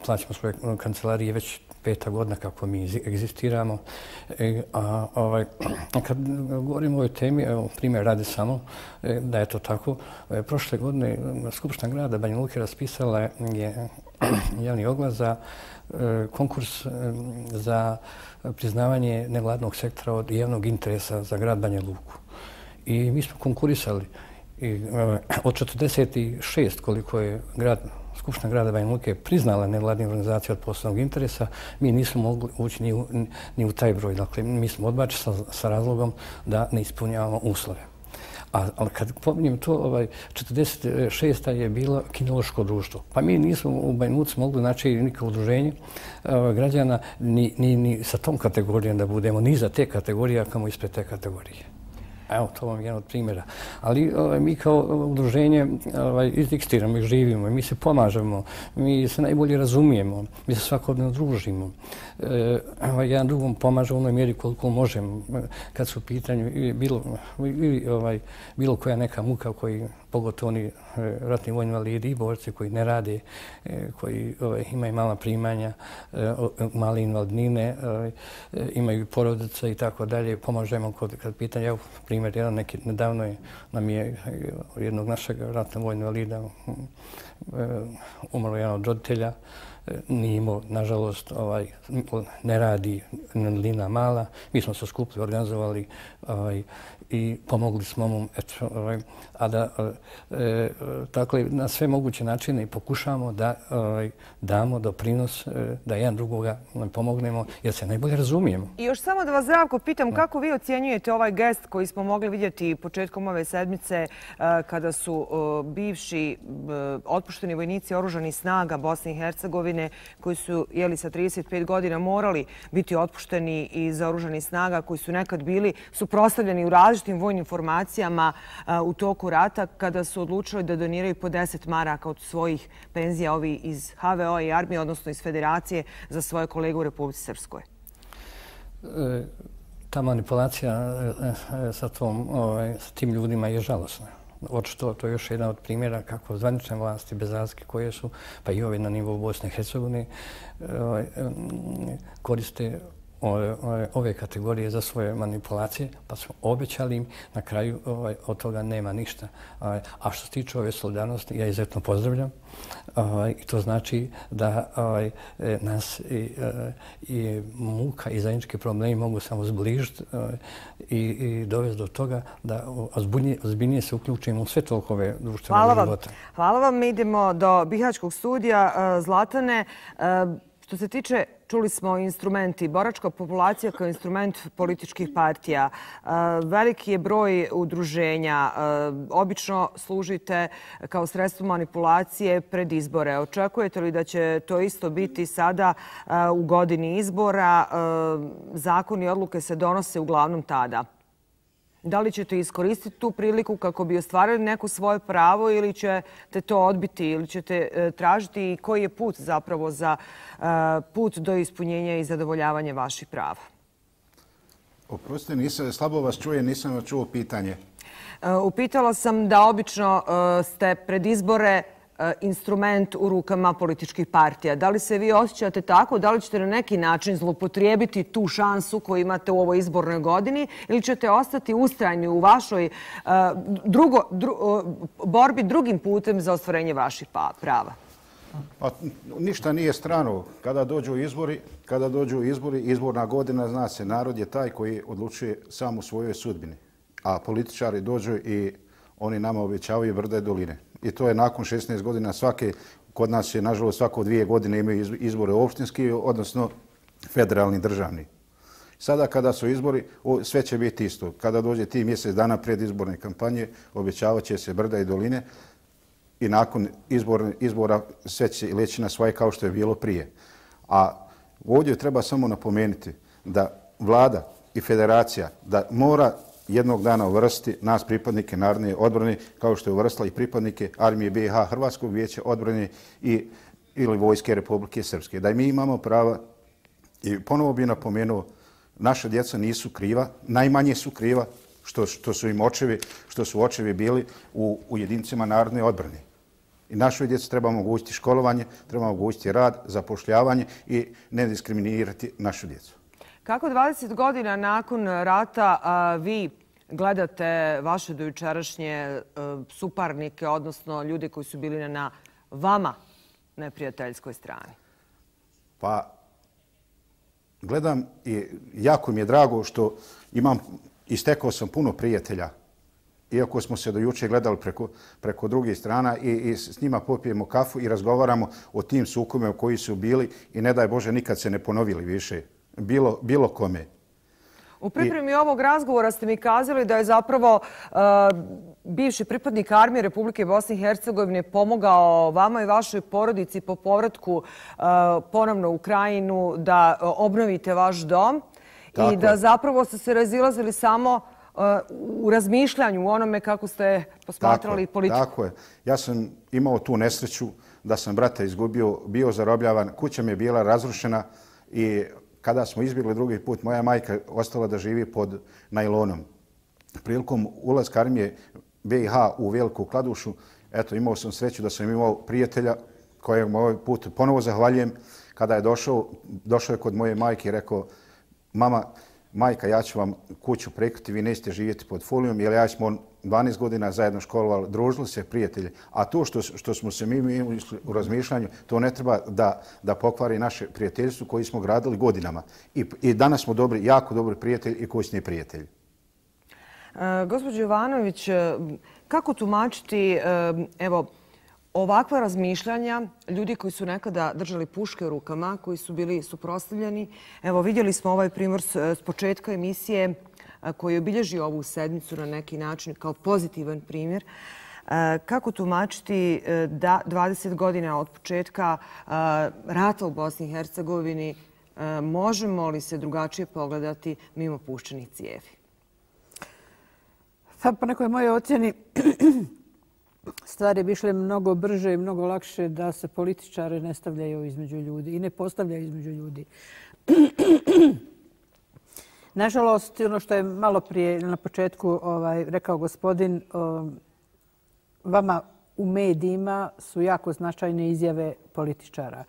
plaćamo svoje kancelarije već 5. godina kako mi egzistiramo. Kad govorimo o ovoj temi, primjer radi samo da je to tako. Prošle godine Skupština grada Banja Luke raspisala je javni oglas za konkurs za priznavanje nevladnog sektora od javnog interesa za grad Banja Luku. I mi smo konkurisali. Od 46 koliko je Skupština grada Banja Luke priznala nevladne organizacije od posebnog interesa, mi nismo mogli ući ni u taj broj. Dakle, mi smo odbačeni sa razlogom da ne ispunjavamo uslove. Ali kad pominjem to, 46. je bilo kinološko društvo. Pa mi nismo u Banja Luci mogli naći nikakvo udruženje građana ni sa tom kategorijom da budemo, ni za te kategorije, a kamo ispred te kategorije. Evo, to vam je jedan od primjera. Ali mi kao udruženje egzistiramo i živimo i mi se pomažemo, mi se najbolje razumijemo, mi se svakodnevno družimo. Jedan drugom pomaže u onoj mjeri koliko možemo. Kad su u pitanju bilo koja neka muka koji, pogotovo oni ratni vojni invalidi i borci koji ne rade, koji imaju mala primanja, male invalidnine, imaju porodice i tako dalje, pomažemo kad pitanje. Evo, primjer, nedavno nam je jednog našeg ratnog vojnog invalida umrlo jedan od roditelja. Nije imao, nažalost, ne radi invalidnina mala. Mi smo se skupili, organizovali i pomogli smo mu. Dakle, na sve moguće načine pokušavamo da damo doprinos, da jedan drugoga pomognemo, jer se najbolje razumijemo. I još samo da vas, Zdravko, pitam kako vi ocjenjujete ovaj gest koji smo mogli vidjeti početkom ove sedmice kada su bivši otpušteni vojnici oružanih snaga Bosne i Hercegovine koji su sa 35 godina morali biti otpušteni iz oružanih snaga, koji su nekad bili suprotstavljeni u različitim vojnim formacijama u toku rata, kada su odlučili da doniraju po 10 maraka od svojih penzija, ovi iz HVO i armije, odnosno iz Federacije, za svoje kolege u Republici Srpskoj? Ta manipulacija sa tim ljudima je žalosna. Očito to je još jedan od primjera kako zvanične vlasti bez razlike koje su, pa i ove na nivou Bosne i Hercegovine, koriste ove kategorije za svoje manipulacije, pa smo obećali im, na kraju od toga nema ništa. A što se tiče ove solidarnosti, ja izuzetno pozdravljam i to znači da nas i muka i zajednički problemi mogu samo zbližiti i dovesti do toga da ozbiljnije se uključimo u sve tokove društvenog života. Hvala vam. Mi idemo do Bihaćkog studija. Zlatane, što se tiče, čuli smo instrumenti, boračka populacija kao instrument političkih partija. Veliki je broj udruženja. Obično služite kao sredstvo manipulacije pred izbore. Očekujete li da će to isto biti sada u godini izbora? Zakoni i odluke se donose uglavnom tada. Da li ćete iskoristiti tu priliku kako bi ostvarili neko svoje pravo ili ćete to odbiti ili ćete tražiti koji je put zapravo za put do ispunjenja i zadovoljavanja vaših prava? Oprostite, slabo vas čuje, nisam čuo pitanje. Upitala sam da obično ste pred izbore instrument u rukama političkih partija. Da li se vi osjećate tako? Da li ćete na neki način zloupotrijebiti tu šansu koju imate u ovoj izbornoj godini ili ćete ostati ustrajni u vašoj borbi drugim putem za ostvarenje vaših prava? Pa, ništa nije strano. Kada dođu izbori, izborna godina, zna se, narod je taj koji odlučuje sam u svojoj sudbini. A političari dođu i oni nama obećavaju brda i doline. I to je nakon 16 godina kod nas je, nažalost, svako 2 godine imaju izbore opštinski, odnosno federalni, državni. Sada kada su izbori, sve će biti isto. Kada dođe ti mjesec dana pred izborne kampanje, obećavat će se brda i doline i nakon izbora sve će leći na svoje kao što je bilo prije. A ovdje treba samo napomenuti da vlada i federacija da mora jednog dana uvrstiti nas pripadnike Narodne odbrane, kao što je uvrstila i pripadnike Armije BiH, Hrvatskog vijeća odbrane ili Vojske Republike Srpske. Da mi imamo prava, i ponovo bih napomenuo, naša djeca nisu kriva, najmanje su kriva što su očevi bili u jedinicama Narodne odbrane. I našoj djeci treba omogućiti školovanje, treba omogućiti rad, zapošljavanje i ne diskriminirati našu djecu. Kako 20 godina nakon rata vi gledate vaše dojučerašnje suparnike, odnosno ljude koji su bili na vama neprijateljskoj strani? Pa, gledam i jako mi je drago što istekao sam puno prijatelja, iako smo se do juče gledali preko drugih strana i s njima popijemo kafu i razgovaramo o tim sukobima koji su bili i ne daj Bože nikad se ne ponovili više, bilo kome. U pripremi ovog razgovora ste mi kazali da je zapravo bivši pripadnik Armije Republike Bosne i Hercegovine pomogao vama i vašoj porodici po povratku ponovno u Krajinu da obnovite vaš dom i da zapravo ste se razilazili samo u razmišljanju, u onome kako ste posmatrali politiku. Tako je. Ja sam imao tu nesreću da sam brata izgubio, bio zarobljavan, kuća mi je bila razrušena i kada smo izbjegli drugi put, moja majka ostala da živi pod najlonom. Prilikom ulaska Armije BiH u Veliku Kladušu, eto, imao sam sreću da sam imao prijatelja kojeg ovaj put ponovo zahvaljujem. Kada je došao je kod moje majke i rekao, majka, ja ću vam kuću prekriti, vi nećete živjeti pod folijom, jer ja smo 12 godina zajedno školovali, družili se prijatelji. A to što smo se mi u razmišljanju, to ne treba da pokvari naše prijateljstvo koji smo gradili godinama. I danas smo jako dobri prijatelji i kućni prijatelji. Gospođo Jovanović, kako tumačiti ovakva razmišljanja ljudi koji su nekada držali puške u rukama, koji su bili suprotstavljeni? Evo, vidjeli smo ovaj primjer s početka emisije koji obilježi ovu sedmicu na neki način kao pozitivan primjer. Kako tumačiti da 20 godina od početka rata u Bosni i Hercegovini možemo li se drugačije pogledati mimo puščanih cijevi? Po nekoj mojoj ocjeni stvari bi išle mnogo brže i mnogo lakše da se političari ne stavljaju između ljudi i ne postavljaju između ljudi. Nažalost, ono što je malo prije na početku rekao gospodin, vama u medijima su jako značajne izjave političara.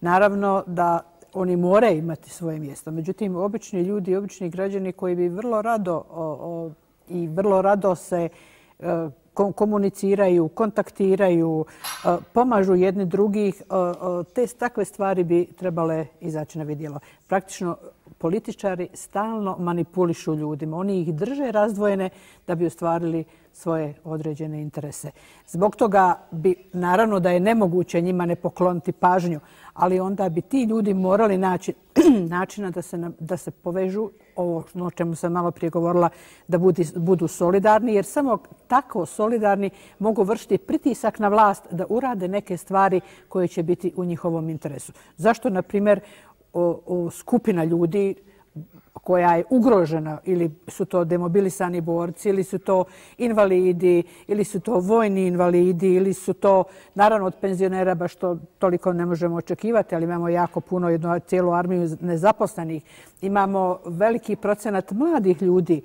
Naravno da oni moraju imati svoje mjesto. Međutim, obični ljudi, obični građani koji bi vrlo rado se komuniciraju, kontaktiraju, pomažu jedni drugih, takve stvari bi trebale izaći na vidjelo. Praktično, političari stalno manipulišu ljudima. Oni ih drže razdvojene da bi ostvarili svoje određene interese. Zbog toga bi, naravno da je nemoguće njima ne pokloniti pažnju, ali onda bi ti ljudi morali naći načina da se povežu, ovo o čemu sam malo prije govorila, da budu solidarni, jer samo tako solidarni mogu vršiti pritisak na vlast da urade neke stvari koje će biti u njihovom interesu. Zašto, na primjer, skupina ljudi koja je ugrožena, ili su to demobilisani borci, ili su to invalidi, ili su to vojni invalidi, ili su to, naravno, od penzionera, baš to toliko ne možemo očekivati, ali imamo jako puno, cijelu armiju nezaposlenih. Imamo veliki procenat mladih ljudi,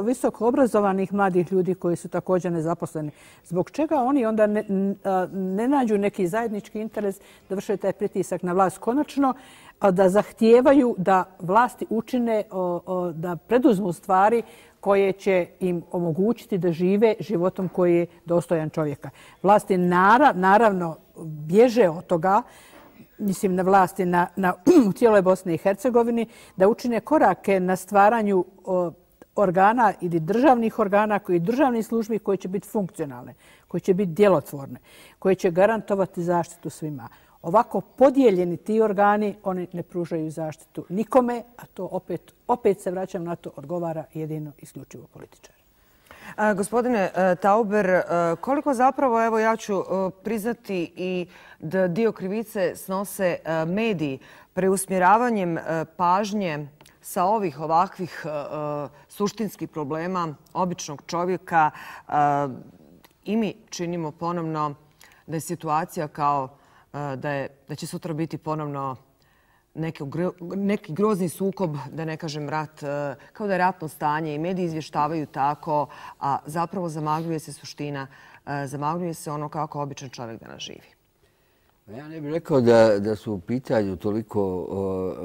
visoko obrazovanih mladih ljudi koji su također nezaposleni. Zbog čega oni onda ne nađu neki zajednički interes da vrše taj pritisak na vlast konačno, da zahtijevaju da vlasti učine, da preduzmu stvari koje će im omogućiti da žive životom koji je dostojan čovjeka. Vlasti naravno bježe od toga, mislim na vlasti u cijeloj Bosni i Hercegovini, da učine korake na stvaranju organa ili državnih organa i državnih službi koje će biti funkcionalne, koje će biti djelotvorne, koje će garantovati zaštitu svima. Ovako podijeljeni ti organi, oni ne pružaju zaštitu nikome, a to opet se vraćam na to, odgovara jedino isključivo političari. Gospodine Tauber, koliko zapravo, evo ja ću priznati i da dio krivice snose mediji preusmjeravanjem pažnje sa ovih ovakvih suštinskih problema običnog čovjeka i mi činimo ponovno da je situacija kao da će sutra biti ponovno neki grozni sukob, da ne kažem rat, kao da je ratno stanje i mediji izvještavaju tako, a zapravo zamagljuje se suština, zamagljuje se ono kako običan čovjek danas živi. Ja ne bih rekao da su u pitanju toliko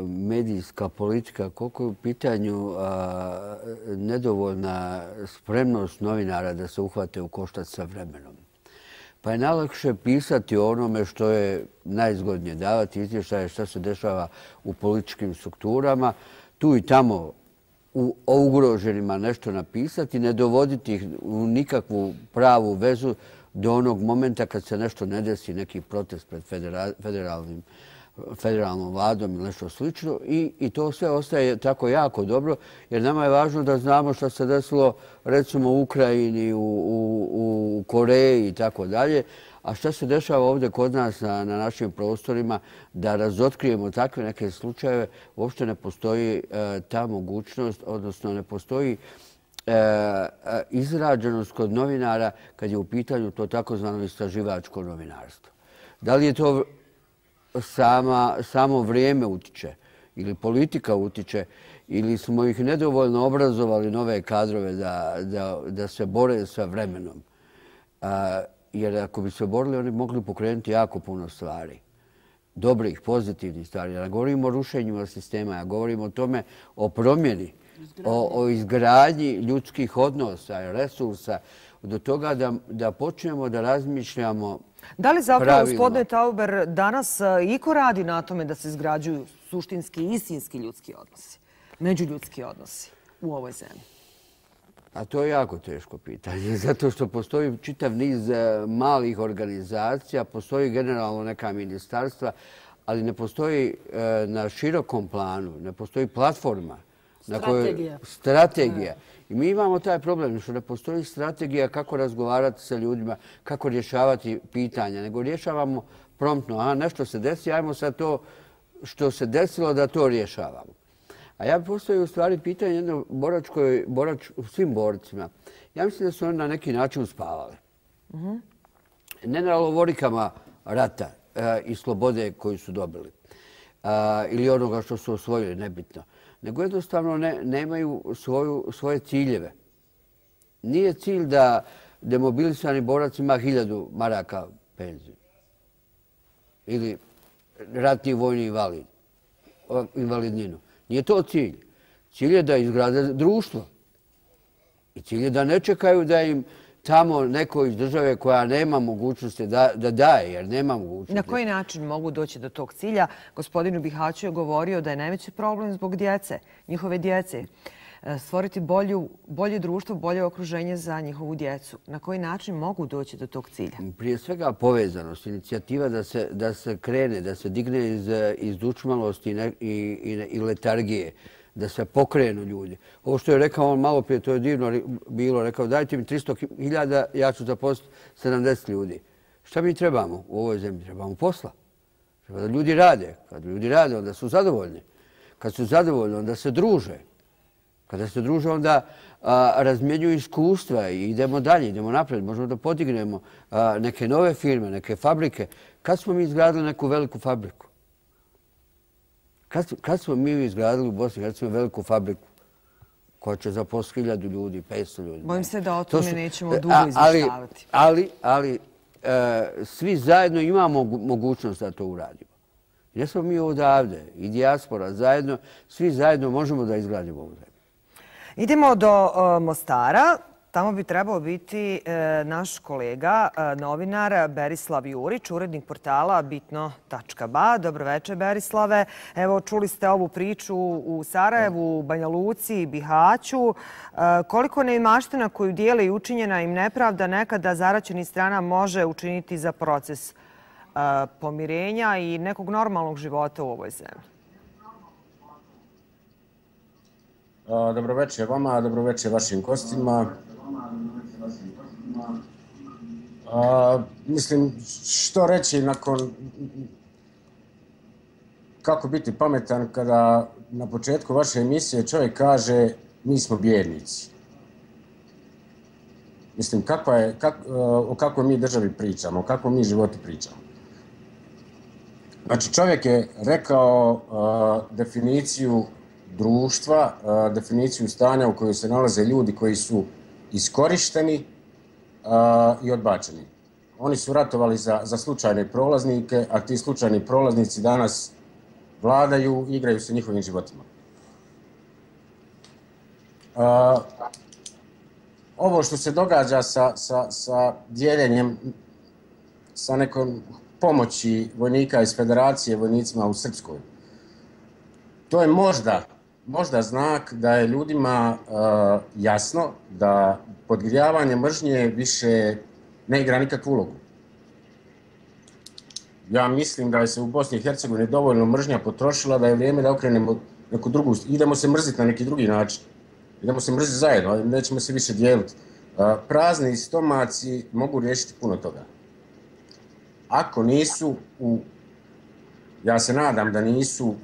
medijska politika, koliko je u pitanju nedovoljna spremnost novinara da se uhvate u koštac sa vremenom. Pa je najlakše pisati o onome što je najzgodnije, davati izvještaje što se dešava u političkim strukturama, tu i tamo o ugroženima nešto napisati, ne dovoditi ih u nikakvu pravu vezu do onog momenta kad se nešto ne desi, neki protest pred federalnom vladom ili nešto slično i to sve ostaje tako jako dobro jer nama je važno da znamo što se desilo recimo u Ukrajini, u Koreji i tako dalje, a što se dešava ovdje kod nas na našim prostorima da razotkrijemo takve neke slučajeve, uopšte ne postoji ta mogućnost, odnosno ne postoji izrađenost kod novinara kad je u pitanju to takozvano istraživačko novinarstvo. Da li je to samo vrijeme utiče ili politika utiče ili smo ih nedovoljno obrazovali nove kadrove da se bore sa vremenom. Jer ako bi se borili, oni mogli pokrenuti jako puno stvari. Dobrih, pozitivnih stvari. Ja govorim o rušenju sistema, ja govorim o tome, o promjeni, o izgradnji ljudskih odnosa, resursa, do toga da počnemo da razmišljamo pravilno. Da li zapravo, gospodine Tauber, danas iko radi na tome da se izgrađuju suštinski i istinski ljudski odnosi, međuljudski odnosi u ovoj zemlji? A to je jako teško pitanje, zato što postoji čitav niz malih organizacija, postoji generalno neka ministarstva, ali ne postoji na širokom planu, ne postoji platforma. Strategija. I mi imamo taj problem što ne postoji strategija kako razgovarati sa ljudima, kako rješavati pitanja, nego rješavamo promptno. Nešto se desi, ajmo sad to što se desilo da to rješavamo. A ja postavio u stvari pitanje jedno svim borcima. Ja mislim da su oni na neki način uspavali. Ne na lovorikama rata i slobode koju su dobili ili onoga što su osvojili, nebitno. Nego jednostavno nemaju svoje ciljeve. Nije cilj da demobilisani borac ima 1000 maraka penziju ili ratni vojni invalidninu. Nije to cilj. Cilj je da izgrade društvo. I cilj je da ne čekaju da im tamo neko iz države koja nema mogućnosti da daje, jer nema mogućnosti. Na koji način mogu doći do tog cilja? Gospodinu Bihaću je govorio da je najveći problem zbog djece, njihove djece. Stvoriti bolje društvo, bolje okruženje za njihovu djecu. Na koji način mogu doći do tog cilja? Prije svega povezanost, inicijativa da se krene, da se digne iz dučmalosti i letargije, da se pokrenu ljudi. Ovo što je rekao on malo prije, to je divno bilo, rekao dajte mi 300.000, ja ću zaposliti 70 ljudi. Šta mi trebamo u ovoj zemlji? Trebamo posla. Treba da ljudi rade. Kad ljudi rade, onda su zadovoljni. Kad su zadovoljni, onda se druže. Kada se druže, onda razmjenjuju iskustva i idemo dalje, idemo napred. Možemo da podignemo neke nove firme, neke fabrike. Kad smo mi izgradili neku veliku fabriku? Kad smo mi izgradili u Bosni i Hercegovini veliku fabriku koja će zaposliti 1000 ljudi, 500 ljudi? Bojim se da o tome nećemo dugo izvještavati. Ali svi zajedno imamo mogućnost da to uradimo. Ne smo mi odavde i dijaspora zajedno, svi zajedno možemo da izgradimo ovu zemlju. Idemo do Mostara. Tamo bi trebao biti naš kolega, novinar Berislav Jurić, urednik portala bitno.ba. Dobro večer, Berislave. Evo, čuli ste ovu priču u Sarajevu, Banja Luci, Bihaću. Koliko neimaština koju dijele i učinjena im nepravda nekada zaraćenih strana može učiniti za proces pomirenja i nekog normalnog života u ovoj zemlji? Dobro večer vama, dobro večer vašim gostima. Mislim, što reći nakon kako biti pametan kada na početku vaše emisije čovjek kaže mi smo bijednici. Mislim, o kakvoj mi državi pričamo, o kakvom mi životu pričamo. Znači, čovjek je rekao definiciju društva, definiciju stanja u kojoj se nalaze ljudi koji su iskorišteni i odbačeni. Oni su ratovali za slučajne prolaznike, a ti slučajni prolaznici danas vladaju i igraju se njihovim životima. Ovo što se događa sa dijeljenjem, sa nekom pomoći vojnika iz Federacije vojnicima u Srpskoj, to je možda znak da je ljudima jasno da podgrijavanje mržnje više ne igra nikakvu ulogu. Ja mislim da je se u Bosni i Hercegovini dovoljno mržnja potrošila, da je vrijeme da okrenemo neku drugu, idemo se mrziti na neki drugi način. Idemo se mrziti zajedno, nećemo se više dijeliti. Prazni stomaci mogu riješiti puno toga. Ako nisu, ja se nadam da nisu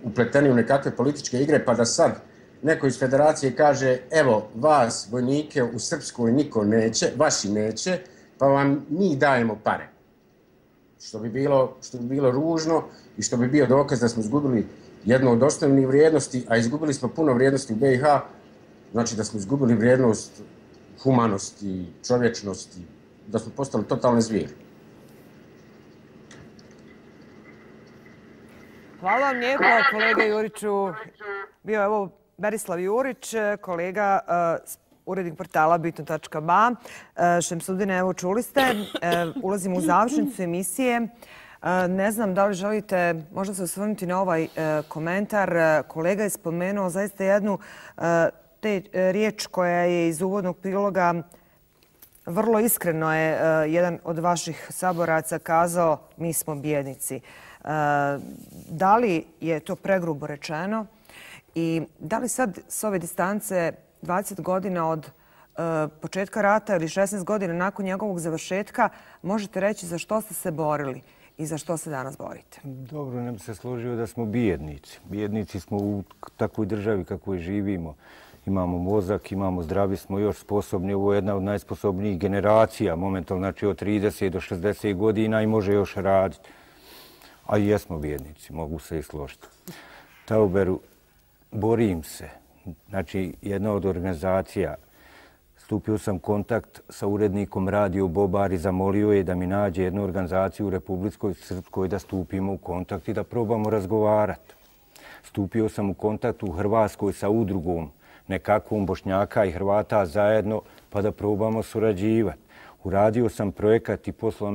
upleteni u nekakve političke igre, pa da sad neko iz Federacije kaže evo, vas, vojnike u Srpskoj niko neće, vaši neće, pa vam mi dajemo pare. Što bi bilo ružno i što bi bio dokaz da smo izgubili jednu od osnovnih vrijednosti, a izgubili smo puno vrijednosti u BiH, znači da smo izgubili vrijednost humanosti, čovječnosti, da smo postali totalne zvijeri. Hvala vam lijepo, kolega Juriću. Bio je ovo Berislav Jurić, kolega urednik portala Bitno.ba. Šemsudine, evo čuli ste, ulazimo u završnicu emisije. Ne znam da li želite možda se osvrnuti na ovaj komentar. Kolega je spomenuo zaista jednu riječ koja je iz uvodnog priloga vrlo iskreno je jedan od vaših saboraca kazao mi smo bijednici. Da li je to pregrubo rečeno i da li sad s ove distance 20 godina od početka rata ili 16 godina nakon njegovog završetka možete reći za što ste se borili i za što se danas borite? Dobro, ne bi se složio da smo bijednici. Bijednici smo u takvoj državi kakvoj živimo. Imamo mozak, imamo zdravi, smo još sposobni. Ovo je jedna od najsposobnijih generacija, momentalno, znači od 30 do 60 godina i može još raditi. A i jesmo bijednici, mogu se i složiti. Tauberu, borim se. Znači, jedna od organizacija, stupio sam u kontakt sa urednikom Radio Bobar i zamolio je da mi nađe jednu organizaciju u Republičkoj Srpskoj da stupimo u kontakt i da probamo razgovarati. Stupio sam u kontakt u Hrvatskoj sa udrugom nekakvom Bošnjaka i Hrvata zajedno pa da probamo surađivati. Uradio sam projekat i poslao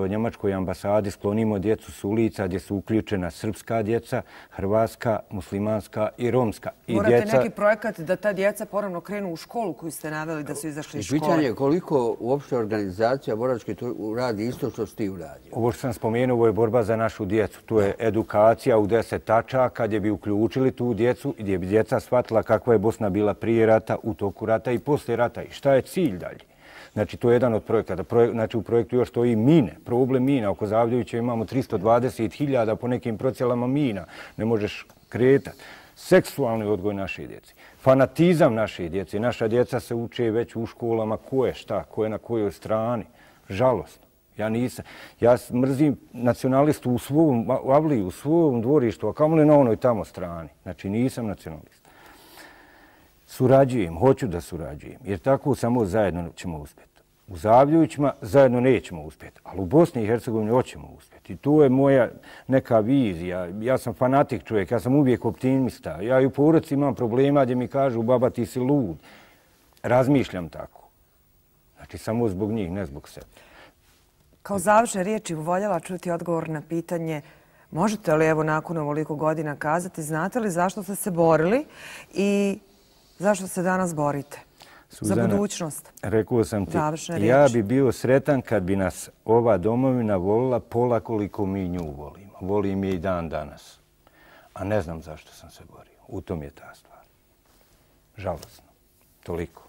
Njemačkoj ambasadi Sklonimo djecu s ulica gdje su uključena srpska djeca, hrvatska, muslimanska i romska. Morate neki projekat da ta djeca ponovno krenu u školu koju ste naveli da su izašli iz škole. Pitanje je koliko uopšte organizacija boračke radi isto što si ti uradio? Ovo što sam spomenuo, ovo je borba za našu djecu. To je edukacija u 10 tačaka gdje bi uključili tu djecu i gdje bi djeca shvatila kakva je Bosna bila prije rata, u toku rata i poslije rata i šta je cilj dalje. Znači, to je jedan od projekata. Znači, u projektu još stoji mine, problem mina. Oko Zavljevića imamo 320.000 po nekim procjelama mina. Ne možeš kretati. Seksualni odgoj naše djece. Fanatizam naše djece. Naša djeca se uče već u školama ko je šta, ko je na kojoj strani. Žalostno. Ja nisam. Ja mrzim nacionalistu u svom avliju, u svom dvorištu, a kamoli na onoj tamo strani. Znači, nisam nacionalist. Surađujem, hoću da surađujem, jer tako samo zajedno ćemo uspjeti. U Zavljevićima zajedno nećemo uspjeti, ali u Bosni i Hercegovini hoćemo uspjeti. I to je moja neka vizija. Ja sam fanatik čovjek, ja sam uvijek optimista. Ja i u porodici imam problema gdje mi kažu baba ti si lud. Razmišljam tako. Znači samo zbog njih, ne zbog sebe. Kao završne riječi voljela čuti odgovor na pitanje možete li evo nakon ovoliko godina kazati, znate li zašto ste se borili i zašto se danas borite? Za budućnost. Rekao sam ti, ja bi bio sretan kad bi nas ova domovina volila pola koliko mi nju volimo. Volim je i dan danas. A ne znam zašto sam se borio. U tom je ta stvar. Žalosno. Toliko.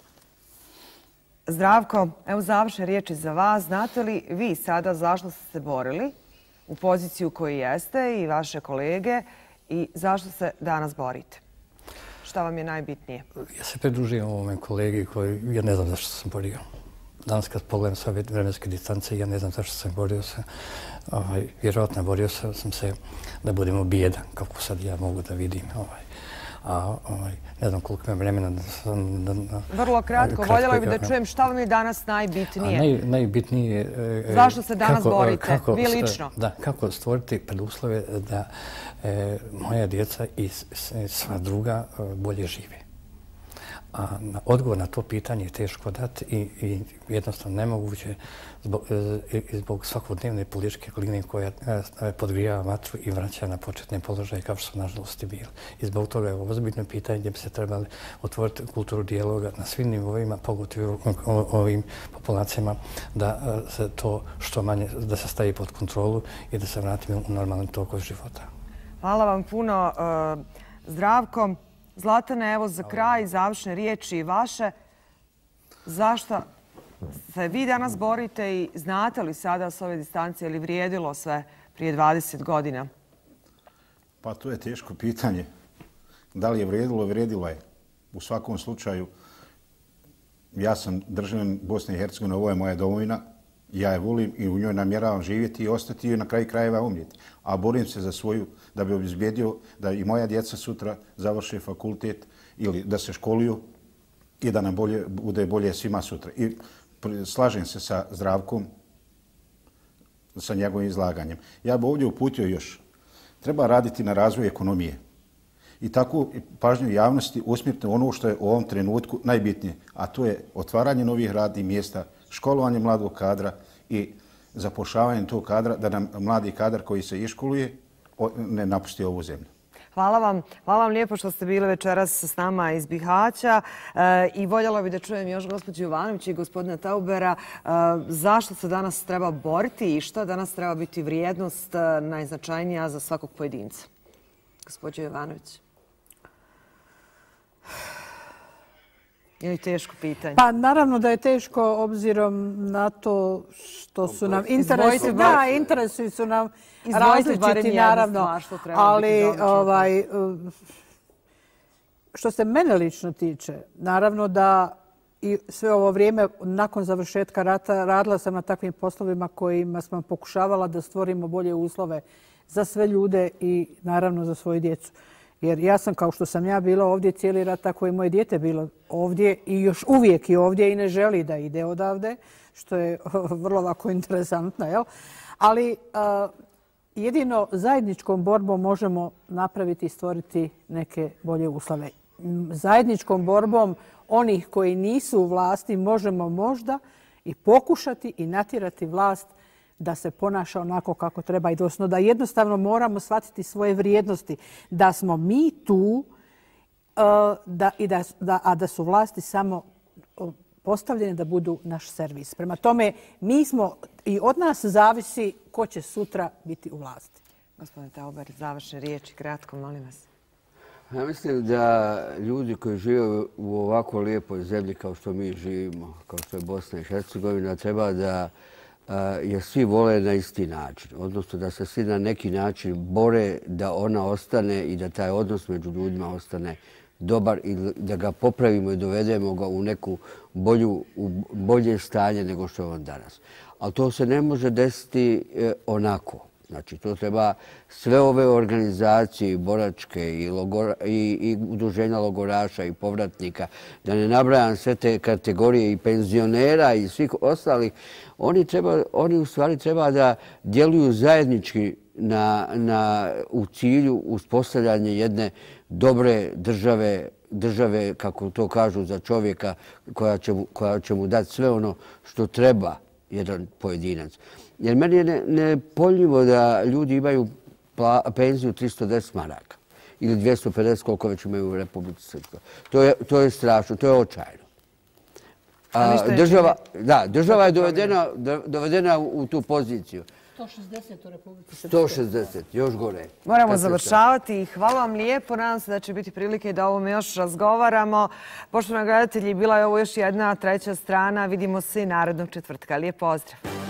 Zdravko, evo završne riječi za vas. Znate li vi sada zašto ste se borili u poziciju koju jeste i vaše kolege i zašto se danas borite? Šta vam je najbitnije? Ja se pridružujem ovome kolegi koji, ja ne znam zašto sam borio. Danas kad pogledam sve vremenske distance, ja ne znam zašto sam borio se. Vjerojatno borio sam se da budemo bijedan, kako sad ja mogu da vidim. Ne znam koliko imam vremena da sam... Vrlo kratko, voljela bih da čujem šta vam je danas najbitnije. Najbitnije... Zašto se danas borite, vi lično? Da, kako stvoriti preduslove da moja djeca i sva druga bolje žive. A odgovor na to pitanje je teško dati i jednostavno nemoguće zbog svakodnevne političke klime koja podgrijava vatru i vraća na početne položaje kao što su nažalost i bili. I zbog toga je ovo ozbiljno pitanje gdje bi se trebali otvoriti kulturu dijaloga na svim nivoima, pogotovo ovim populacijama, da se to što manje, da se stavi pod kontrolu i da se vratimo u normalan tok života. Hvala vam puno, Zdravko. Zlatane, evo za kraj, završne riječi vaše. Zašto se vi danas borite i znate li sada s ove distancije ili vrijedilo sve prije 20 godina? Pa to je teško pitanje. Da li je vrijedilo, vrijedilo je. U svakom slučaju, ja sam državljanin Bosne i Hercegovine, ovo je moja domovina, ja je volim i u njoj namjeravam živjeti i ostati i na kraju krajeva umrijeti. A borim se za svoju, da bi obezbijedio da i moja djeca sutra završe fakultet ili da se školuju i da nam bude bolje svima sutra. I slažem se sa Zdravkom, sa njegovim izlaganjem. Ja bih ovdje uputio još. Treba raditi na razvoju ekonomije. I tako pažnju javnosti usmjeriti ono što je u ovom trenutku najbitnije, a to je otvaranje novih radnih mjesta, školovanje mladog kadra i zapošljavanje tog kadra, da nam mladi kadar koji se iškoluje ne napusti ovu zemlju. Hvala vam. Hvala vam lijepo što ste bili večeras s nama iz Bihaća i voljela bih da čujem još gospođu Jovanović i gospodina Taubera zašto se danas treba boriti i šta danas treba biti vrijednost najznačajnija za svakog pojedinca. Gospođo Jovanović. Je li teško pitanje? Pa naravno da je teško obzirom na to što su nam interesi. Da, interesi su nam različiti naravno. Ali što se mene lično tiče, naravno da i sve ovo vrijeme nakon završetka rata radila sam na takvim poslovima kojima smo pokušavala da stvorimo bolje uslove za sve ljude i naravno za svoju djecu. Jer ja sam, kao što sam ja bila ovdje cijeli rat, tako i moje dijete bilo ovdje i još uvijek je ovdje i ne želi da ide odavde, što je vrlo ovako interesantno. Jel? Ali jedino zajedničkom borbom možemo napraviti i stvoriti neke bolje uslove. Zajedničkom borbom onih koji nisu u vlasti možemo možda i pokušati i natjerati vlast da se ponaša onako kako treba i doslovno, da jednostavno moramo shvatiti svoje vrijednosti, da smo mi tu, a da su vlasti samo postavljene da budu naš servis. Prema tome, mi smo i od nas zavisi ko će sutra biti u vlasti. Gospodine Tauber, završne riječi, kratko, molim vas. Ja mislim da ljudi koji žive u ovako lijepoj zemlji kao što mi živimo, kao što je Bosna i Hercegovina, treba da jer svi vole na isti način. Odnosno da se svi na neki način bore da ona ostane i da taj odnos među ljudima ostane dobar i da ga popravimo i dovedemo ga u neku bolje stanje nego što je on danas. Ali to se ne može desiti onako. Znači, to treba sve ove organizacije, boračke i udruženja logoraša i povratnika, da ne nabrajam sve te kategorije i penzionera i svih ostalih, oni u stvari treba da djeluju zajednički u cilju uspostavljanja jedne dobre države, kako to kažu, za čovjeka koja će mu dati sve ono što treba jedan pojedinac. Jer meni je nepojmljivo da ljudi imaju penziju 310 maraka ili 250 koliko već imaju u Republici Srpskoj. To je strašno, to je očajno. Država je dovedena u tu poziciju. 160 u Republici Srpskoj. 160, još gore. Moramo završavati. Hvala vam lijepo. Nadam se da će biti prilike da o ovome još razgovaramo. Poštovani gledatelji, bila je ovo još jedna treća strana. Vidimo se i narednog četvrtka. Lijep pozdrav.